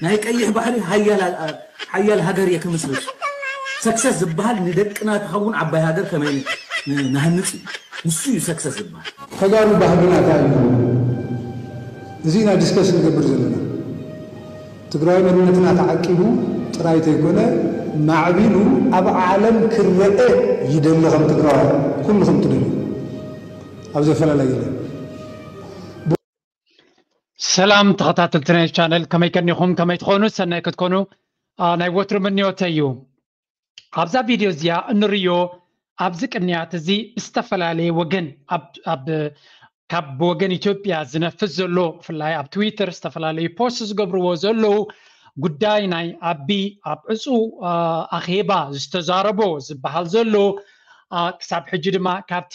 ናይ ቀይሕ ባሕሪ ሓያል ኣ- ሓያል ሃገር እየ ክምስርት። ሰክሰስ ዝበሃል ንደቅና ትኸውን ዓባይ ሃገር ከመይ ን- ንሃንጽ እዩ። ንሱ እዩ ሰክሰስ ዝበሃል። ተጋሩ ባህግና እንታይ እዩ? እዚ ኢና ዲስከስ ንገብር ዘለና። ትግራዊ መንነትና ተዓቂቡ ጥራይ ተይኮነ ማዕቢሉ ኣብ ዓለም ክረአ ይደሊ። ከም ትግራዋይ ኩልኹም ትደልዩ ኣብዚ ኣፈላላይ የለን። ሰላም ተኸታተልቲ ናይ ቻነል፣ ከመይ ከኒኹም? ከመይ ትኾኑ? ሰናይ ክትኮኑ ናይ ወትሩ ምንዮተይ እዩ። ኣብዛ ቪድዮ እዚኣ እንርእዮ ኣብዚ ቅንያት እዚ ብዝተፈላለየ ወገን ካብ ብወገን ኢትዮጵያ ዝነፍስ ዘሎ ብፍላይ ኣብ ትዊተር ዝተፈላለዩ ፖስት ዝገብርዎ ዘለዉ ጉዳይ ናይ ኣቢ ኣብ ዕፁ ኣኼባ ዝተዛረቦ ዝበሃል ዘሎ ክሳብ ሕጂ ድማ ካብቲ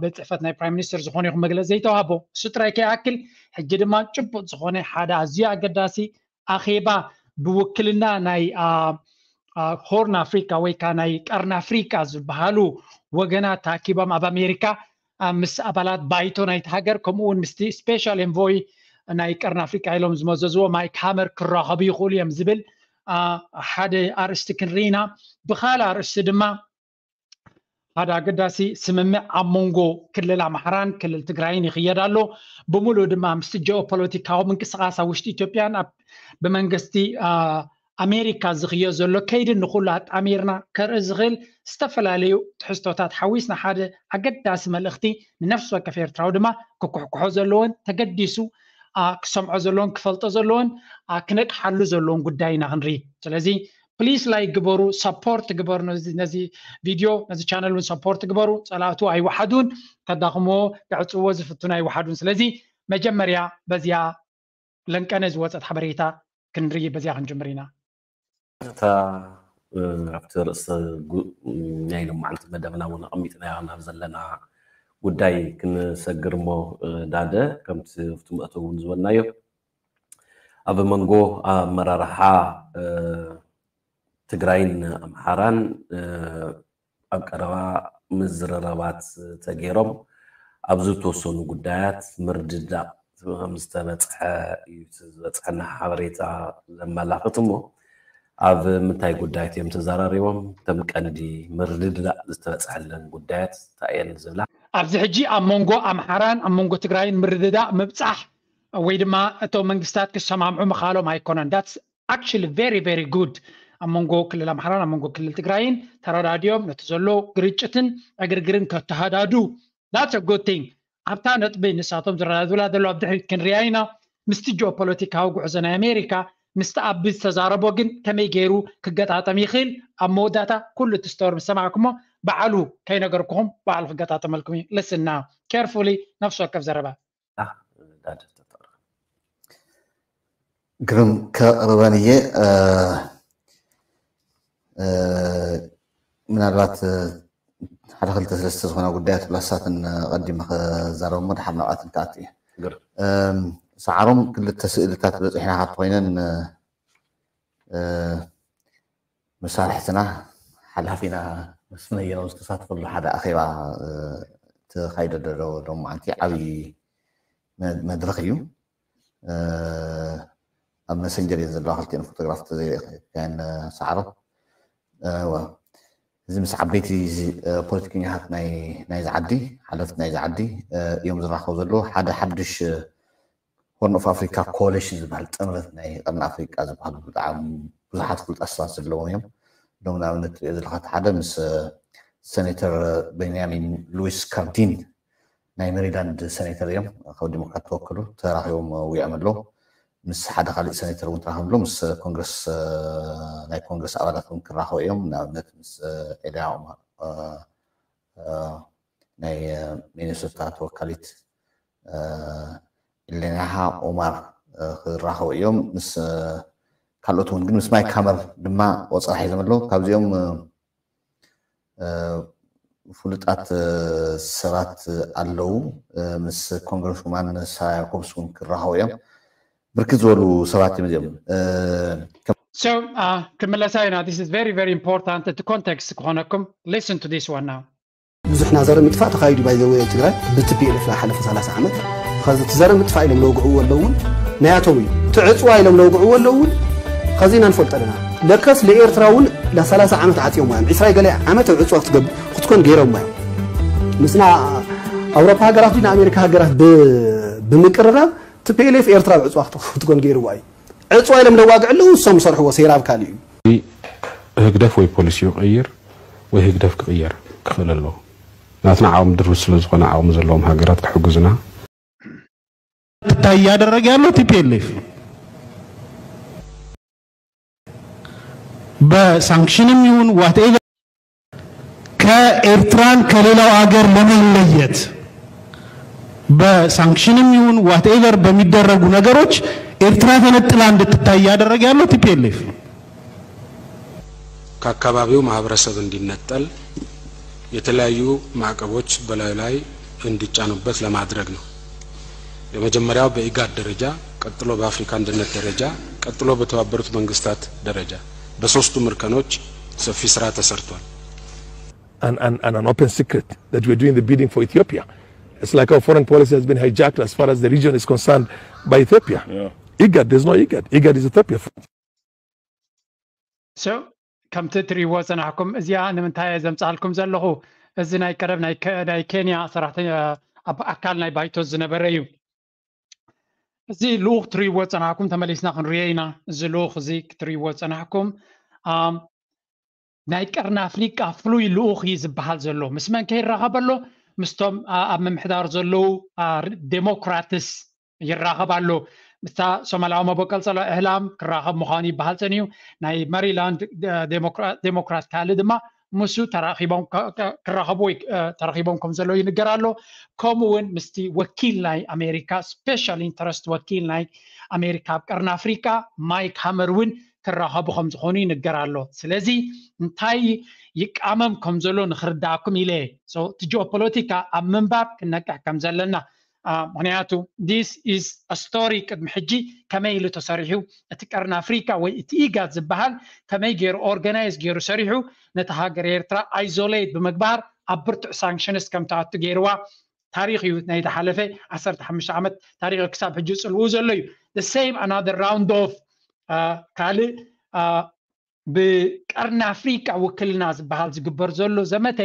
ቤት ፅሕፈት ናይ ፕራይም ሚኒስትር ዝኾነ ይኹን መግለፂ ዘይተዋህቦ እሱ ጥራይ ከይኣክል ሕጂ ድማ ጭቡጥ ዝኾነ ሓደ ኣዝዩ ኣገዳሲ ኣኼባ ብውክልና ናይ ሆርን ኣፍሪካ ወይ ከዓ ናይ ቀርኒ ኣፍሪካ ዝበሃሉ ወገናት ተኣኪቦም ኣብ ኣሜሪካ ምስ ኣባላት ባይቶ ናይቲ ሃገር ከምኡ እውን ምስቲ ስፔሻል ኤንቮይ ናይ ቀርኒ ኣፍሪካ ኢሎም ዝመዘዝዎ ማይክ ሃመር ክራኸቡ ይኽእሉ እዮም ዝብል ሓደ ኣርእስቲ ክንርኢ ኢና። ብካልእ ኣርእስቲ ድማ ሓደ ኣገዳሲ ስምምዕ ኣብ መንጎ ክልል ኣምሓራን ክልል ትግራይን ይኽየድ ኣሎ። ብምሉእ ድማ ምስቲ ጂኦፖለቲካዊ ምንቅስቃስ ኣብ ውሽጢ ኢትዮጵያን ብመንግስቲ ኣሜሪካ ዝኽዮ ዘሎ ከይድን ንኹሉ ኣጣሚርና ከርኢ ዝኽእል ዝተፈላለዩ ትሕዝቶታት ሓዊስና ሓደ ኣገዳሲ መልእኽቲ ንነፍሲ ወከፍ ኤርትራዊ ድማ ክኩሕኩሖ ዘለዎን ተገዲሱ ክሰምዖ ዘለዎን ክፈልጦ ዘለዎን ክነቅሓሉ ዘለዎን ጉዳይ ኢና ክንርኢ። ስለዚ ፕሊስ ላይክ ግበሩ፣ ሰፖርት ግበሩ። ነዚ ቪድዮ ነዚ ቻነል እውን ሰፖርት ግበሩ። ፀላእቱ ኣይወሓዱን፣ ከዳኽምዎ ክዕፅዎ ዝፍትኑ ኣይወሓዱን። ስለዚ መጀመርያ በዚኣ ለንቀነ ዝወፀት ሓበሬታ ክንርኢ በዚኣ ክንጅምር ኢና። እታ ኣብቲ ርእሰ ናይ ሎማዓንቲ መደብና እውን ኣቐሚጥናዮ ናብ ዘለና ጉዳይ ክንሰግር እሞ ዳደ ከምቲ ኣብቲ መእተዊ እውን ዝበልናዮ ኣብ መንጎ ኣመራርሓ ትግራይን ኣምሓራን ኣብ ቀረባ ምዝርራባት ተገይሮም ኣብ ዝተወሰኑ ጉዳያት ምርድዳእ ከም ዝተበፅሐ እዩ ዝበፅሐና ሓበሬታ ዘመላኽት። እሞ ኣብ ምንታይ ጉዳያት እዮም ተዘራሪቦም? እቶም ቀንዲ ምርድዳእ ዝተበፅሐለን ጉዳያት እንታይ እየን ዝብላ? ኣብዚ ሕጂ ኣብ መንጎ ኣምሓራን ኣብ መንጎ ትግራይን ምርድዳእ ምብፃሕ ወይ ድማ እቶም መንግስታት ክሰማምዑ ምኻሎም ኣይኮነን። That's actually very very good። ኣብ መንጎ ክልል ኣምሓራን ኣብ መንጎ ክልል ትግራይን ተረዳዲኦም ነቲ ዘሎ ግርጭትን ዕግርግርን ከተሃዳዱ that's a good thing። ኣብታ ነጥቢ ንሳቶም ዝረዳድላ ዘለዉ ኣብ ድሕሪት ክንሪኣ ኢና። ምስቲ ጂኦፖለቲካዊ ጉዕዞ ናይ ኣሜሪካ ምስቲ ኣቢ ዝተዛረቦ ግን ከመይ ገይሩ ክገጣጠም ይኽእል? ኣብ መወዳእታ ኩሉ እቲ ስቶሪ ምስ ሰማዕኩሞ በዓሉ ከይነገርኩኹም በዓሉ ክገጣጠመልኩም እዩ። Listen now carefully ነፍሲ ወከፍ ዘረባ። ግርም ከቕርበን እየ። ምናልባት ሓደ ክልተ ሰለስተ ዝኾና ጉዳያት ብላሳትን ቀዲመ ክዛረብ እሞ ድሓር ናብኣትን ክኣቱ እየ። ሰዓሮም ክልተ ስእልታት በፂሕና ካብ ኮይነን መሳርሕትና ሓላፊና መስፍን ኣየኖም ዝተሳተፈሉ ሓደ ኣኼባ ተኻይደ ዶ ሎማዓንቲ ዓብዪ መድረኽ እዩ። ኣብ መሰንጀር እየን ዘለዋ ክልቲኤን ፎቶግራፍ ተዘይሪአን ሰዓሮ። እዚ ምስ ዓበይቲ ፖለቲከኛታት ናይዚ ዓዲ ሓለፍቲ ናይዚ ዓዲ እዮም ዝራኸቡ ዘለዉ። ሓደ ሓድሽ ሆርን ኦፍ ኣፍሪካ ኮሊሽን ዝበሃል ጥምረት ናይ ቀርኒ ኣፍሪካ ዝበሃሉ ብጣዕሚ ብዙሓት ፍሉጣት ሰባት ዘለዎም እዮም። ሎም ንኣብነት ትሪኦ ዘለካ ሓደ ምስ ሰኔተር ቤንያሚን ሉዊስ ካርዲን ናይ ሜሪላንድ ሰኔተር እዮም፣ ካብ ዲሞክራት ተወክሉ ተራኺቦም ውዒዖም ኣለዉ። ምስ ሓደ ካሊእ ሰኔተር እውን ተራኺቦም ኣለዉ። ምስ ኮንግረስ ናይ ኮንግረስ ኣባላት እውን ክራኸቡ እዮም። ንኣብነት ምስ ኤልያ ኦማር ናይ ሚኒሶታ ተወካሊት ኢሌናሃ ኦማር ክራኸቡ እዮም። ምስ ካልኦት እውን ግን ምስ ማይክ ሃመር ድማ ቆፀራ ሒዞም ኣለዉ። ካብዚኦም ፍሉጣት ሰባት ኣለዉ። ምስ ኮንግረስ ውማን ሳራ ያኮብስ እውን ክራኸቡ እዮም። ብርክት ዝበሉ ሰባት እዮም እዚኦም። So ክምለሳ ኢና። This is very very important እቲ ኮንቴክስት ክኾነኩም። Listen to this one now. ብዙሕ ናዘረ ምጥፋእ ተኻይዱ ባይዘወ ትግራይ ብትፒኤልኤፍ ዝሓለፈ ሰላሳ ዓመት ኸዚ ትዘረ ምጥፋእ ኢሎም ለውግዕዎ ኣለውን ናያቶም እዩ ትዕፅዋ ኢሎም ለውግዕዎ ኣለውን ኣዚና ንፈልጦ ኣለና። ለከስ ለኤርትራ እውን ለ30 ዓመት ዓጽዮማ እዮም። ዕስራ ገለ ዓመት ኣብ ዕጽዋ ክትገብ-፣ ክትኮን ገይሮማ እዮም። ምስና ኣውሮፓ ሃገራት ድዩ ንኣሜሪካ ሃገራት ብ-፣ ብምቅርራብ ቲ ፒ ኤል ኤፍ ኤርትራ ኣብ ዕጽዋ ክት-፣ ክትኮን ገይርዋ እዩ። ዕጽዋ ኢሎም ለዋግዕሉ ንሶም ዝሰርሕዎ ሴራ ኣብ ካልእ እዩ። ህግደፍ ወይ ፖሊሲኡ ይቕይር ወይ ህግደፍ ክቕየር ክኽእል ኣለዎ። ናትና ዓቕሚ ድሩት ስለ ዝኾነ ዓቕሚ ዘለዎም ሃገራት ክሕግዙና እንታይ እያደረገ ያለው ቲ ፒ ኤል ኤፍ በሳንክሽንም ይሁን whatever ከኤርትራን ከሌላው አገር ለመለየት በሳንክሽንም ይሁን whatever በሚደረጉ ነገሮች ኤርትራ ተነጥላ እንድትታይ እያደረገ ያለው ቲ ፒ ኤል ኤፍ ከአካባቢው ማህበረሰብ እንዲነጠል የተለያዩ ማዕቀቦች በላዩ ላይ እንዲጫኑበት ለማድረግ ነው። የመጀመሪያው በኢጋድ ደረጃ፣ ቀጥሎ በአፍሪካ አንድነት ደረጃ፣ ቀጥሎ በተባበሩት መንግስታት ደረጃ። በሶስቱም እርከኖች ሰፊ ስራ ተሰርቷል። and, and, and an open secret that we're doing the bidding for Ethiopia. It's like our foreign policy has been hijacked as far as the region is concerned by Ethiopia. IGAD, there's no IGAD. IGAD is Ethiopia. So ከምቲ ትሪእዎ ዝጸናሕኩም እዚኣ ንምንታይ እየ ዘምጻልኩም ዘለኹ? እዚ ናይ ቀደም ናይ ከ-፣ ናይ ኬንያ ሰራሕተኛ ኣብ ኣካል ናይ ባይቶ ዝነበረ እዩ። እዚ ልኡኽ ትሪእዎ ዝጸናሕኩም ተመሊስና ክንሪኦ ኢና። እዚ ልኡኽ እዚ ክትሪእዎ ዝጸናሕኩም ኣም፣ ናይ ቀርኒ ኣፍሪቃ ፍሉይ ልኡኽ እዩ ዝበሃል ዘሎ። ምስ መን ከይራኸብ ኣሎ? ምስቶም ኣ-፣ ኣብ ምምሕዳር ዘለዉ ኣ፣ ር-፣ ዴሞክራትስ ይራኸብ ኣሎ። ምስታ ሶማላዊ መበቀል ጸላኢ እህላም ክራኸብ ምዃኑ ይበሃል ጸኒዩ። ናይ መሪላንድ ደ-፣ ዴሞክራ-፣ ዴሞክራት ካልእ ድማ ምስኡ ተራኺቦም ከ-፣ ከ-፣ ክራኸቡ ወይ እ፣ ተራኺቦም ከም ዘለዉ ይንገር ኣሎ። ከምኡ እውን ምስቲ ወኪል ናይ ኣሜሪካ ስፔሻል ኢንተረስት ወኪል ናይ ኣሜሪካ ኣብ ቀርኒ ኣፍሪቃ ማይክ ሃመር እውን ክራኸቡ ከም ዝኾኑ ይንገር ኣሎ። ስለዚ እንታይ ይቃመም ከም ዘሎ ንኽርዳእኩም ኢለ እየ። So እቲ ጂኦፖለቲካ ኣብ ምንባብ ክነቅሕ ከም ዘለና ኣ፣ ምኽንያቱ this is a story ቅድሚ ሕጂ ከመይ ኢሉ ተሰሪሑ እቲ ቀርኒ ኣፍሪካ ወይ እቲ ኢጋድ ዝበሃል ከመይ ገይሩ ኦርጋናይዝ ገይሩ ሰሪሑ ነቲ ሃገር ኤርትራ ኣይዞሌት ብምግባር ኣብ ብርቱዕ ሳንክሽንስ ከም ትኣቱ ገይርዋ ታሪኽ እዩ ናይ ዝሓለፈ ዓሰርተ ሓሙሽተ ዓመት ታሪኽ ክሳብ ሕጂ ዝጽልኡ ዘሎ እዩ። The same another round of ኣ፣ ካልእ ኣ፣ ብቀርኒ ኣፍሪቃ ውክልና ዝበሃል ዝግበር ዘሎ ዘመተ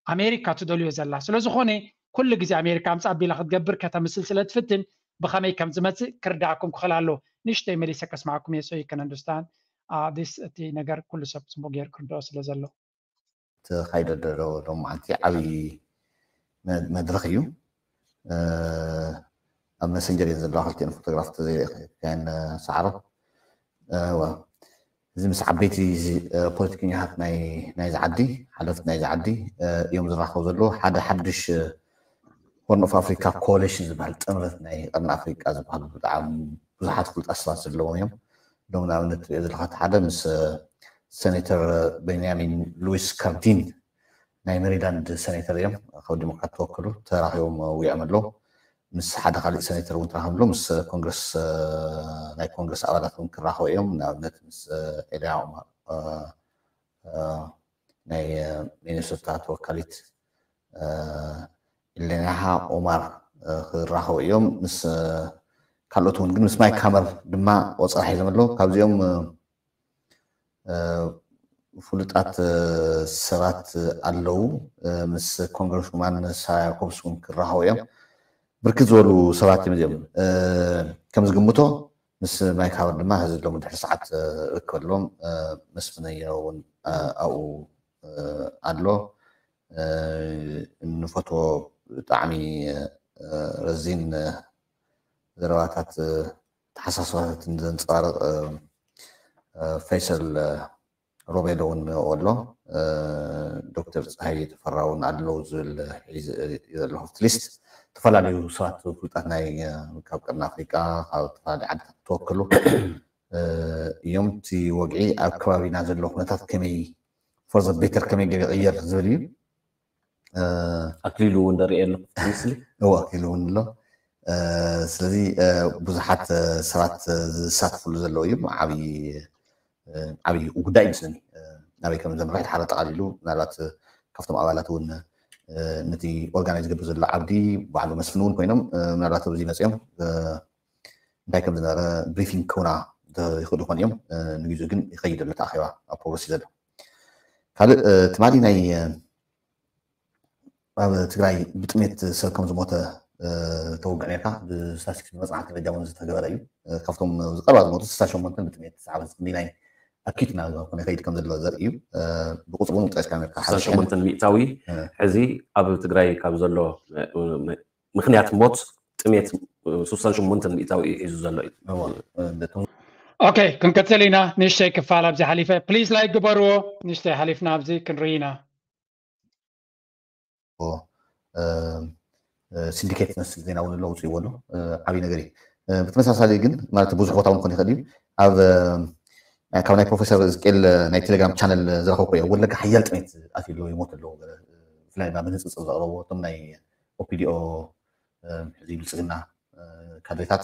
ኣሜሪካ ትደልዮ ዘላ ስለ ዝኾነ ኩሉ ግዜ ኣሜሪካ ኣምጻ ቢላ ክትገብር ከተምስል ስለ ትፍትን ብኸመይ ከም ዝመጽእ ክርዳእኩም ክኽእል ኣለዎ። ንእሽተይ መሊሰ ከስማዕኩም እየ so you can understand this እቲ ነገር ኩሉ ሰብ ጽቡቅ ገይሩ ክርድኦ ስለ ዘሎ። ተኻይደ ዘሎ ሎም መዓልቲ ዓብዪ መ- መድረኽ እዩ። እ፣ ኣብ መሰንጀር እየን ዘለዋ ክልቲኤን ፎቶግራፍ ተዘይርኢኻየን ሰዓረ። እ፣ ዋ። እዚ ምስ ዓበይቲ እ፣ ፖለቲከኛታት ናይ ናይዚ ዓዲ ሓለፍቲ ናይዚ ዓዲ እ፣ እዮም ዝራኸቡ ዘለዉ። ሓደ ሓድሽ ሆርን ኦፍ ኣፍሪካ ኮሊሽን ዝበሃል ጥምረት ናይ ቀርኒ ኣፍሪቃ ዝበሃሉ ብጣዕሚ ብዙሓት ፍሉጣት ሰባት ዘለዎም እዮም። ሎም ንኣብነት ትሪኦ ዘለካ እቲ ሓደ ምስ እ፣ ሴኔተር ቤንያሚን ሉዊስ ካርዲን ናይ ሜሪላንድ ሴኔተር እዮም ካብ ዲሞክራት ተወክሉ ተራኺቦም ውዒዖም ኣለዉ። ምስ ሓደ ካሊእ ሴኔተር እውን ተራኺቦም ኣለዉ። ምስ ኮንግረስ እ፣ ናይ ኮንግረስ ኣባላት እውን ክራኸቡ እዮም። ንኣብነት ምስ እ፣ ኤልያ ኦማር እ፣ እ፣ ናይ እ፣ ሚኒሶታ ተወካሊት እ፣ ኢሌናሃ ኦማር እ፣ ክራኸቡ እዮም። ምስ እ፣ ካልኦት እውን ግን ምስ ማይክ ሃመር ድማ ቆጸራ ሒዞም ኣለዉ። ካብዚኦም እ፣ እ፣ ፍሉጣት እ፣ ሰባት ኣለዉ። እ፣ ምስ ኮንግረስውማን ሳራ ያኮብስ እውን ክራኸቡ እዮም። ብርክት ዝበሉ ሰባት እዮም እዚኦም። እ፣ ከም ዝግምቶ ምስ ማይክ ሃመር ድማ ህዚ ሎም ድሕሪ ሰዓት እ፣ ርክብ ኣለዎም። እ፣ መስፍን ኣየኖ እውን እ፣ ኣብኡ እ፣ ኣሎ። እ፣ እንፈትዎ ብጣዕሚ እ፣ ረዚን እ፣ ዘረባታት እ፣ ተሓሳስባታትን ዘንጸባርቕ እ፣ እ፣ ፈይሰል እ፣ ሮቤል እውን ኣብኡ ኣሎ። እ፣ ዶክተር ፀሃየ ተፈራ እውን ኣለዉ ዝብል ሒዘ እየ ዘለኹ ኣብቲ ሊስት። ዝተፈላለዩ ሰባት ፍሉጣት ናይ እ፣ ካብ ቀርኒ ኣፍሪቃ ካብ ዝተፈላለዩ ዓድታት ተወከሉ እ፣ እዮም። እቲ ወግዒ ኣብ ከባቢና ዘሎ ኩነታት ከመይ for the better ከመይ ገይሩ ይቕየር ዝብል እዩ። እ፣ ኣክሊሉ እውን ንርኢ ኣሎ ኣብቲ ምስሊ። እዎ ኣክሊሉ እውን ኣሎ። እ፣ ስለዚ እ፣ ብዙሓት እ፣ ሰባት እ፣ ዝሳተፍሉ ዘለዉ እዮም። ዓብዪ እ፣ ዓብዪ ጉዳይ ይመስለኒ። እ፣ ናበይ ከም ዘምርሕ ድሓር ኣጠቓሊሉ ምናልባት እ፣ ካብቶም ኣባላት እውን እ፣ ነቲ ኦርጋናይዝ ዝገብር ዘሎ ዓብዲ ባዕሉ መስፍን እውን ኮይኖም እ፣ ምናልባት ኣብዚ መፅኦም እ፣ እንታይ ከም ዝነበረ ብሪፊንግ ክህቡና ይኽእሉ ይኾን እዮም። ንግዜኡ ግን ይኸይድ ኣሎ እቲ ኣኼባ ኣብ ፕሮግረስ እዩ ዘሎ። ካልእ ትማሊ ናይ ኣብ ትግራይ ብጥሜት ሰብ ከም ዝሞተ ተወግዕ ኔርካ። ብስታስቲክስ ብመፅናዕቲ ደረጃ እውን ዝተገበረ እዩ። ካብቶም ዝቀርባ ዝሞቱ ስሳ ሸሞንተን ብጥሜት ዓመት ክንዲ ናይ ኣኪት ናብ ዝኾነ ከይድ ከም ዘሎ ዘርኢ እዩ። ብቁፅሩ እውን ጠቂስካ ኔርካ። ስሳ ሸሞንተ ሚእታዊ ሕዚ ኣብ ትግራይ ካብ ዘሎ ምክንያት ሞት ጥሜት ስሳ ሸሞንተ ሚእታዊ እዩ ሒዙ ዘሎ እዩ። ኦኬ፣ ክንቀፅል ኢና። ንእሽተይ ክፋል ኣብዚ ሓሊፈ ፕሊዝ ላይክ ግበርዎ። ንእሽተይ ሓሊፍና ኣብዚ ክንርኢ ኢና። ሲንዲኬት ዝመስል ዜና እውን ኣሎ፣ ውፅእዎ ኣሎ። ዓብዪ ነገር እዩ። ብተመሳሳሊ ግን ማለት ብዙሕ ቦታ እውን ክኾን ይኽእል እዩ። ኣብ ካብ ናይ ፕሮፌሰር እዝቅኤል ናይ ቴሌግራም ቻነል ዝረኸብኩ እየ። ወለጋ ሓያል ጥሜት ኣትዩ ኣሎ፣ ይሞት ኣለዉ። ብፍላይ ድማ ብንፅፅር ዘቕረብዎ እቶም ናይ ኦፒዲኦ ሕዚ ብልፅግና ካድሬታት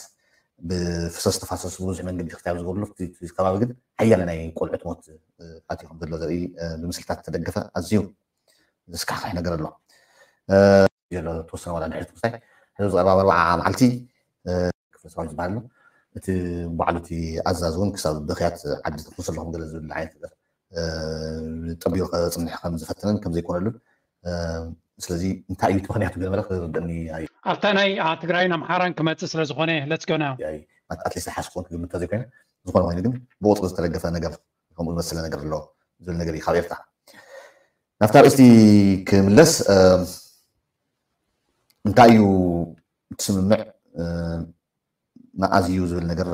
ብፍሰስ ተፋሰስ ብብዙሕ መንገዲ ክትያብ ዝገብርሉ እቲ ከባቢ ግን ሓያለ ናይ ቆልዑት ሞት ኣትዩ ከም ዘሎ ዘርኢ ብምስልታት ዝተደገፈ ኣዝዩ ዘስካሕካሕ ነገር ኣሎ። ዘሎ ተወሰነ ዋላ ድሕሪ ትኩስታይ ሕዚ ዝቐርባ ኣርባዓ መዓልቲ ክፍለ ሰራዊት ዝበሃል ኣሎ። እቲ ባዕሉ እቲ ኣዛዚ እውን ክሳብ ብኽያት ዓዲ ተኩስ ኣለኹም ገለ ዝብል ዓይነት ነገር ጠቢሩ ከፅንሕ ከም ዝፈተነን ከም ዘይኮነሉን ስለዚ እንታይ እዩ እቲ ምክንያቱ ገለ መለ ክርደኒ ኣዩ። ኣብታ ናይ ትግራይን ኣምሓራን ክመፅእ ስለ ዝኾነ let's go now። ኣትሊስት ሓስ ክኾን ክግምት ተዘይኮይነ ዝኾነ ኮይኑ ግን ብቁፅሪ ዝተደገፈ ነገር ከምኡ ዝመሰለ ነገር ኣሎ ዝብል ነገር እዩ ካብ ኤርትራ። ናብታ ርእስቲ ክምለስ እንታይ እዩ እቲ ስምምዕ መኣዝ እዩ ዝብል ነገር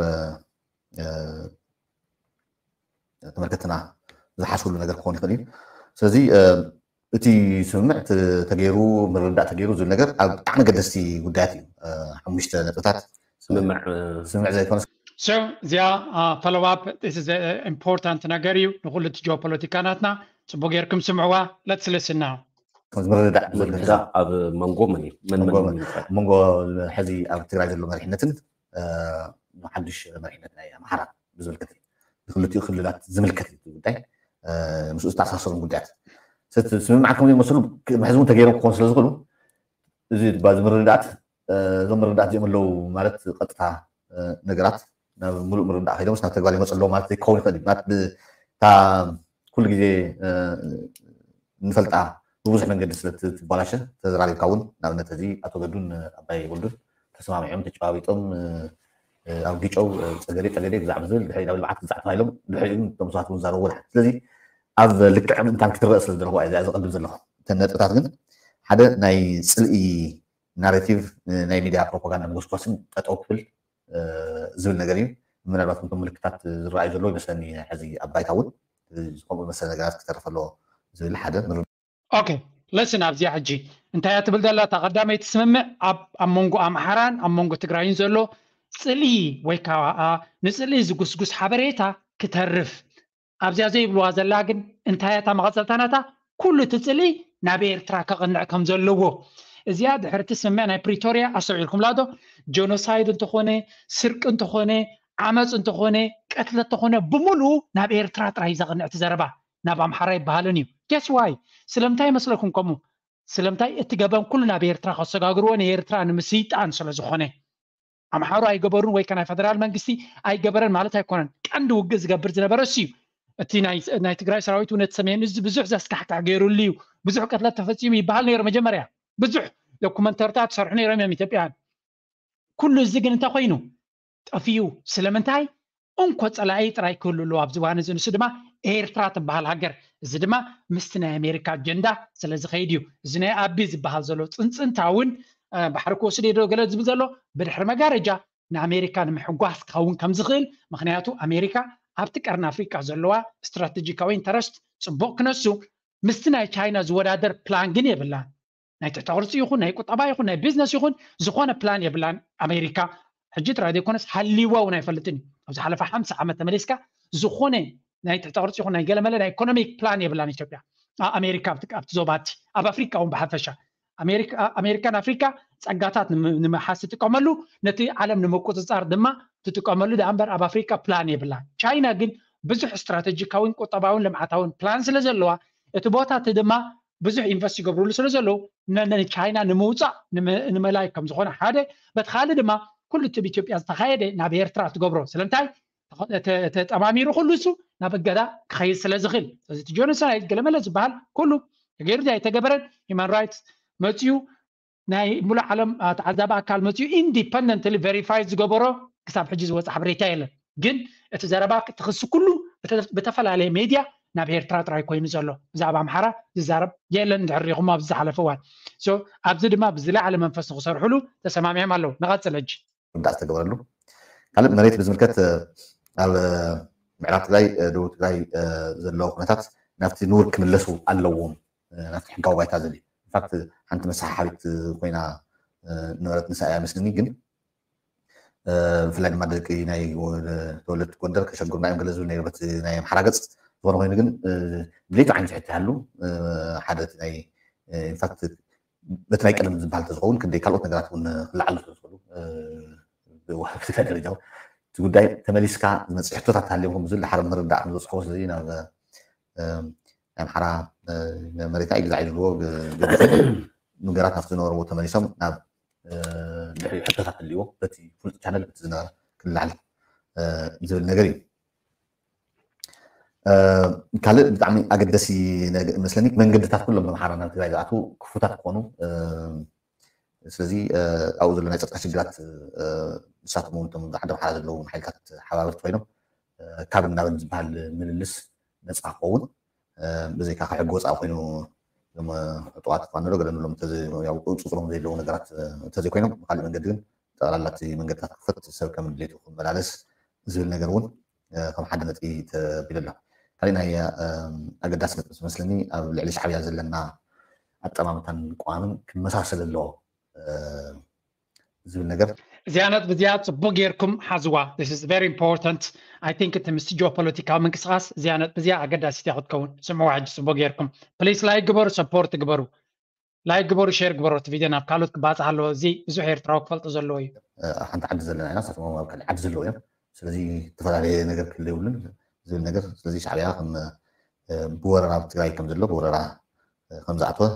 ተመልከትና ዝሓስብሉ ነገር ክኾን ይኽእል እዩ። ስለዚ እቲ ስምምዕ ተገይሩ ምርዳእ ተገይሩ ዝብል ነገር ኣብ ብጣዕሚ ገደስቲ ጉዳያት እዩ። ሓሙሽተ ነጥብታት ስምምዕ ዘይኮነ እዚኣ ፈሎዋፕ ኢምፖርታንት ነገር እዩ ንኩሉ እቲ ጂኦፖለቲካ ናትና። ፅቡቅ ጌርኩም ስምዕዋ። ለትስልስና ምርዳእ ኣብ መንጎ መን እዩ መንጎ ሕዚ ኣብ ትግራይ ዘሎ መሪሕነትን ሓዱሽ መሪሕነት ናይ ኣምሓራ ብዝምልከት እዩ። ንክልቲኡ ክልላት ዝምልከት እዩ ጉዳይ ምስኡ ዝተኣሳሰሩ ጉዳያት ስምምዓት ከም ዘይመስሉ መሕዚ እውን ተገይሮም ክኾኑ ስለ ዝኽእሉ እዚ ባዚ ምርዳት እዞም ምርዳት እዚኦም ኣለዉ ማለት ቀጥታ ነገራት ናብ ሙሉእ ምርዳእ ከይዶምስ ናብ ተግባር ይመፁ ኣለዉ ማለት ዘይክኸውን ይኽእል እዩ። እታ ኩሉ ግዜ ንፈልጣ ብብዙሕ መንገዲ ስለ ትባላሸ ተዘራሪብካ እውን ንኣብነት እዚ ኣቶ ገዱን ኣባይ ወልዱን ተሰማሚዖም ተጨባቢጦም ኣብ ጊጨው ፀገዴ ጠገዴ ግዛዕ ብዝብል ድሕሪ ናብ ልምዓት ግዛዕ ተባሂሎም ድሕሪኡ እቶም ሰባት እውን ዛረቡ። ስለዚ ኣብ ልክዕ ምእንታን ክትረአ ስለ ዝደለኹ እዚኣ ዘቐድም ዘለኹ እተን ነጥብታት ግን ሓደ ናይ ፅልኢ ናሬቲቭ ናይ ሚድያ ፕሮፓጋንዳ መጎስኳስን ጠጠው ክብል ዝብል ነገር እዩ። ምናልባት እቶም ምልክታት ዝረኣዩ ዘለዉ ይመስለኒ ሕዚ ኣብ ባይታ እውን ከምኡ መሰለ ነገራት ክተርፍ ኣለዎ ዝብል ሓደ ኦኬ ለስን ኣብዚኣ ሕጂ እንታይ እያ ትብል ዘላ እታ ቀዳመይቲ ስምምዕ ኣብ ኣብ መንጎ ኣምሓራን ኣብ መንጎ ትግራይን ዘሎ ፅልኢ ወይ ከዓ ንፅልኢ ዝጉስጉስ ሓበሬታ ክተርፍ ኣብዚኣ ዘይብልዋ ዘላ ግን እንታይ እያ እታ መቐፀልታ ናታ ኩሉ እቲ ፅልኢ ናብ ኤርትራ ከቕንዕ ከም ዘለዎ እዚኣ ድሕርቲ ስምምዕ ናይ ፕሪቶርያ ኣስተውዒልኩምላ ዶ ጀኖሳይድ እንተኾነ ስርቂ እንተኾነ ዓመፅ እንተኾነ ቀትለ እንተኾነ ብምሉኡ ናብ ኤርትራ ጥራይ ዘቕንዕ እቲ ዘረባ ናብ ኣምሓራ ይበሃልን እዩ። Guess why? ስለምንታይ ይመስለኩም ከምኡ? ስለምንታይ እቲ ገበን ኩሉ ናብ ኤርትራ ከሰጋግርዎ ንኤርትራ ንምስይጣን ስለ ዝኾነ ኣምሓሩ ኣይገበሩን ወይ ከ ናይ ፈደራል መንግስቲ ኣይገበረን ማለት ኣይኮነን። ቀንዲ ውግእ ዝገብር ዝነበረ እሱ እዩ። እቲ ናይ ትግራይ ሰራዊት እውን እቲ ሰሜን እዚ ብዙሕ ዘስካሕካሕ ገይሩሉ እዩ። ብዙሕ ቅትለት ተፈፂሙ ይበሃል ነይሩ መጀመርያ ብዙሕ ዶኩመንተርታት ትሰርሑ ነይሮም እዮም ኢትዮጵያን ኩሉ እዚ ግን እንታይ ኮይኑ ጠፊኡ ስለምንታይ እንኮ ፀላኢ ጥራይ ክህሉ ኣለዎ ኣብዚ እዋን እዚ ንሱ ድማ ኤርትራ ትበሃል ሃገር እዚ ድማ ምስቲ ናይ ኣሜሪካ ኣጀንዳ ስለ ዝኸይድ እዩ እዚ ናይ ኣቢ ዝበሃል ዘሎ ፅንፅንታ እውን ባሕሪ ክወስድ እየ ዶ ገለ ዝብል ዘሎ ብድሕሪ መጋረጃ ንኣሜሪካ ንምሕጓስ ክኸውን ከም ዝኽእል ምክንያቱ ኣሜሪካ ኣብቲ ቀርኒ ኣፍሪቃ ዘለዋ ስትራቴጂካዊ ኢንተረስት ፅቡቅ ክነሱ ምስቲ ናይ ቻይና ዝወዳደር ፕላን ግን የብላን ናይ ትሕተ ቅርፂ ይኹን ናይ ቁጠባ ይኹን ናይ ቢዝነስ ይኹን ዝኾነ ፕላን የብላን ኣሜሪካ ሕጂ ጥራይ ዘይኮነስ ሃሊዋ እውን ኣይፈልጥን እዩ ኣብ ዝሓለፈ ሓምሳ ዓመት ተመሊስካ ዝኾነ ናይ ትሕተ ቅርፂ ይኹን ናይ ገለመለ ናይ ኢኮኖሚክ ፕላን የብላን ኢትዮጵያ ኣሜሪካ ኣብቲ ዞባቲ ኣብ ኣፍሪካ እውን ብሓፈሻ ኣሜሪካን ኣፍሪካ ፀጋታት ንምሓስ ትጥቀመሉ ነቲ ዓለም ንምቁፅፃር ድማ ትጥቀመሉ ዳኣ እምበር ኣብ ኣፍሪካ ፕላን የብላን ቻይና ግን ብዙሕ ስትራተጂካዊን ቁጠባዊን ልምዓታዊን ፕላን ስለ ዘለዋ እቲ ቦታ እቲ ድማ ብዙሕ ኢንቨስት ይገብርሉ ስለ ዘለዉ ንቻይና ንምውፃእ ንምእላይ ከም ዝኾነ ሓደ በቲ ካልእ ድማ ኩሉ እቲ ኢትዮጵያ ዝተኻየደ ናብ ኤርትራ ትገብሮ ስለምንታይ ተጠማሚሩ ኩሉ እሱ ናብ እገዳ ክኸይድ ስለ ዝኽእል፣ ስለዚ እቲ ጀኖሳይድ ገለመለ ዝበሃል ኩሉ ተገይሩ ኣይተገበረን፣ ሂማን ራይትስ መፅኡ ናይ ሙሉእ ዓለም ተዓዛቢ ኣካል መፅኡ ኢንዲፐንደንትሊ ቨሪፋይ ዝገበሮ ክሳብ ሕጂ ዝወፀ ሓበሬታ የለን። ግን እቲ ዘረባ እቲ ክሲ ኩሉ ብተፈላለየ ሜድያ ናብ ኤርትራ ጥራይ ኮይኑ ዘሎ፣ ብዛዕባ ኣምሓራ ዝዛረብ የለን። እንድሕር ሪኹም ኣብዚ ዝሓለፈ እዋን ኣብዚ ድማ ብዝለዓለ መንፈስ ንክሰርሕሉ ተሰማሚዖም ኣለዉ። ንቐፅል ሕጂ። ርዳእ ዝተገበረሉ ካልእ መሬት ብዝምልከት ኣብ ምዕራብ ትግራይ፣ ደቡብ ትግራይ ዘለዉ ኩነታት ናብቲ ንቡር ክምለሱ ኣለዎም፣ ናብቲ ሕጋዊ ባይታ ዘድልዩ። ኢንፋክት ሓንቲ መሰሓሓቢት ኮይና ነበረት ንሳ እያ መስልኒ። ግን ብፍላይ ድማ ደቂ ናይ ተወለድቲ ጎንደር ከሸግሩና እዮም ገለ ዝብል ነይሩ በቲ ናይ ኣምሓራ ገፅ። ዝኾነ ኮይኑ ግን ድሌቱ ዓይነት ሕቶ ይሃሉ ሓደ ናይ ኢንፋክት በቲ ናይ ቀደም ዝበሃል ተዝኸውን ክንደይ ካልኦት ነገራት እውን ክለዓሉ ስለዝኽእሉ ብወሃብትካ ደረጃ እቲ ጉዳይ ተመሊስካ ዝመፅእ ሕቶታት ተሃልዮም ከም ዝብል ድሓር ምርዳእ ከም ዝበፅሕዎ ስለዚ ናብ ኣምሓራ መሬትና ይግዛዕ እዩ ዝብልዎ ነገራት ናብቲ ዝነበርዎ ተመሊሶም ናብ ድሕሪ ሕቶታት ህልዎ በቲ ፍሉጥ ቻነል በቲ ዝነበረ ክልዓል ዝብል ነገር እዩ። ካልእ ብጣዕሚ ኣገደሲ መስለኒ መንገድታት ኩሎም ብምሓራ ናብ ትግራይ ዝኣትዉ ክፉታት ክኾኑ ስለዚ ኣብኡ ዘሎ ናይ ፀጥታ ሽግራት ንሳቶም እውን እቶም ዓዲ ኣምሓራ ዘለዎም ሓይልታት ሓባበርቲ ኮይኖም ካብ ናብን ዝበሃል ምልልስ ነፃ ክኸውን ብዘይካ ካብ ሕጊ ወፃኢ ኮይኑ እቶም ዕጡቓት ፋኖ ዶ ገለ ንብሎም ቁፅፅሮም ዘይለዉ ነገራት እንተዘይኮይኖም ብካሊእ መንገዲ ግን ጠቕላላ እቲ መንገድታት ክፈት ሰብ ከም ድሌቱ ክመላለስ ዝብል ነገር እውን ከም ሓደ ነጥቢ ተቢሉ ኣሎ። ካሊእ ናይ ኣገዳሲ ነጥቢ ዝመስለኒ ኣብ ልዕሊ ሻዕብያ ዘለና ኣጠማምታን ቅዋምን ክመሳሰል ኣለዎ ዝብል ነገር እዚኣ ነጥቢ እዚኣ ፅቡቅ ጌርኩም ሓዝዋ። ኢንፖርታንት። ኣይ ቲንክ እቲ ምስቲ ጂኦፖለቲካዊ ምንቅስቃስ እዚኣ ነጥቢ እዚኣ ኣገዳሲት እያ ክትከውን። ስምዕዋ ሕጂ ፅቡቅ ጌርኩም። ፕሊስ ላይክ ግበሩ፣ ሰፖርት ግበሩ። ላይክ ግበሩ፣ ሼር ግበሩ። እቲ ቪድዮ ናብ ካልኦት ክባፅሕ ኣለዎ። እዚ ብዙሕ ኤርትራዊ ክፈልጦ ዘለዎ እዩ። ሓንቲ ዓዲ ዘለና ኢና፣ ንሳቶም ኣብ ካልእ ዓዲ ዘለዉ እዮም። ስለዚ ዝተፈላለየ ነገር ክህሉ የብሉን ዝብል ነገር። ስለዚ ሻዕብያ ከም ብወረራ ኣብ ትግራይ ከም ዘሎ ብወረራ ከም ዝኣተወ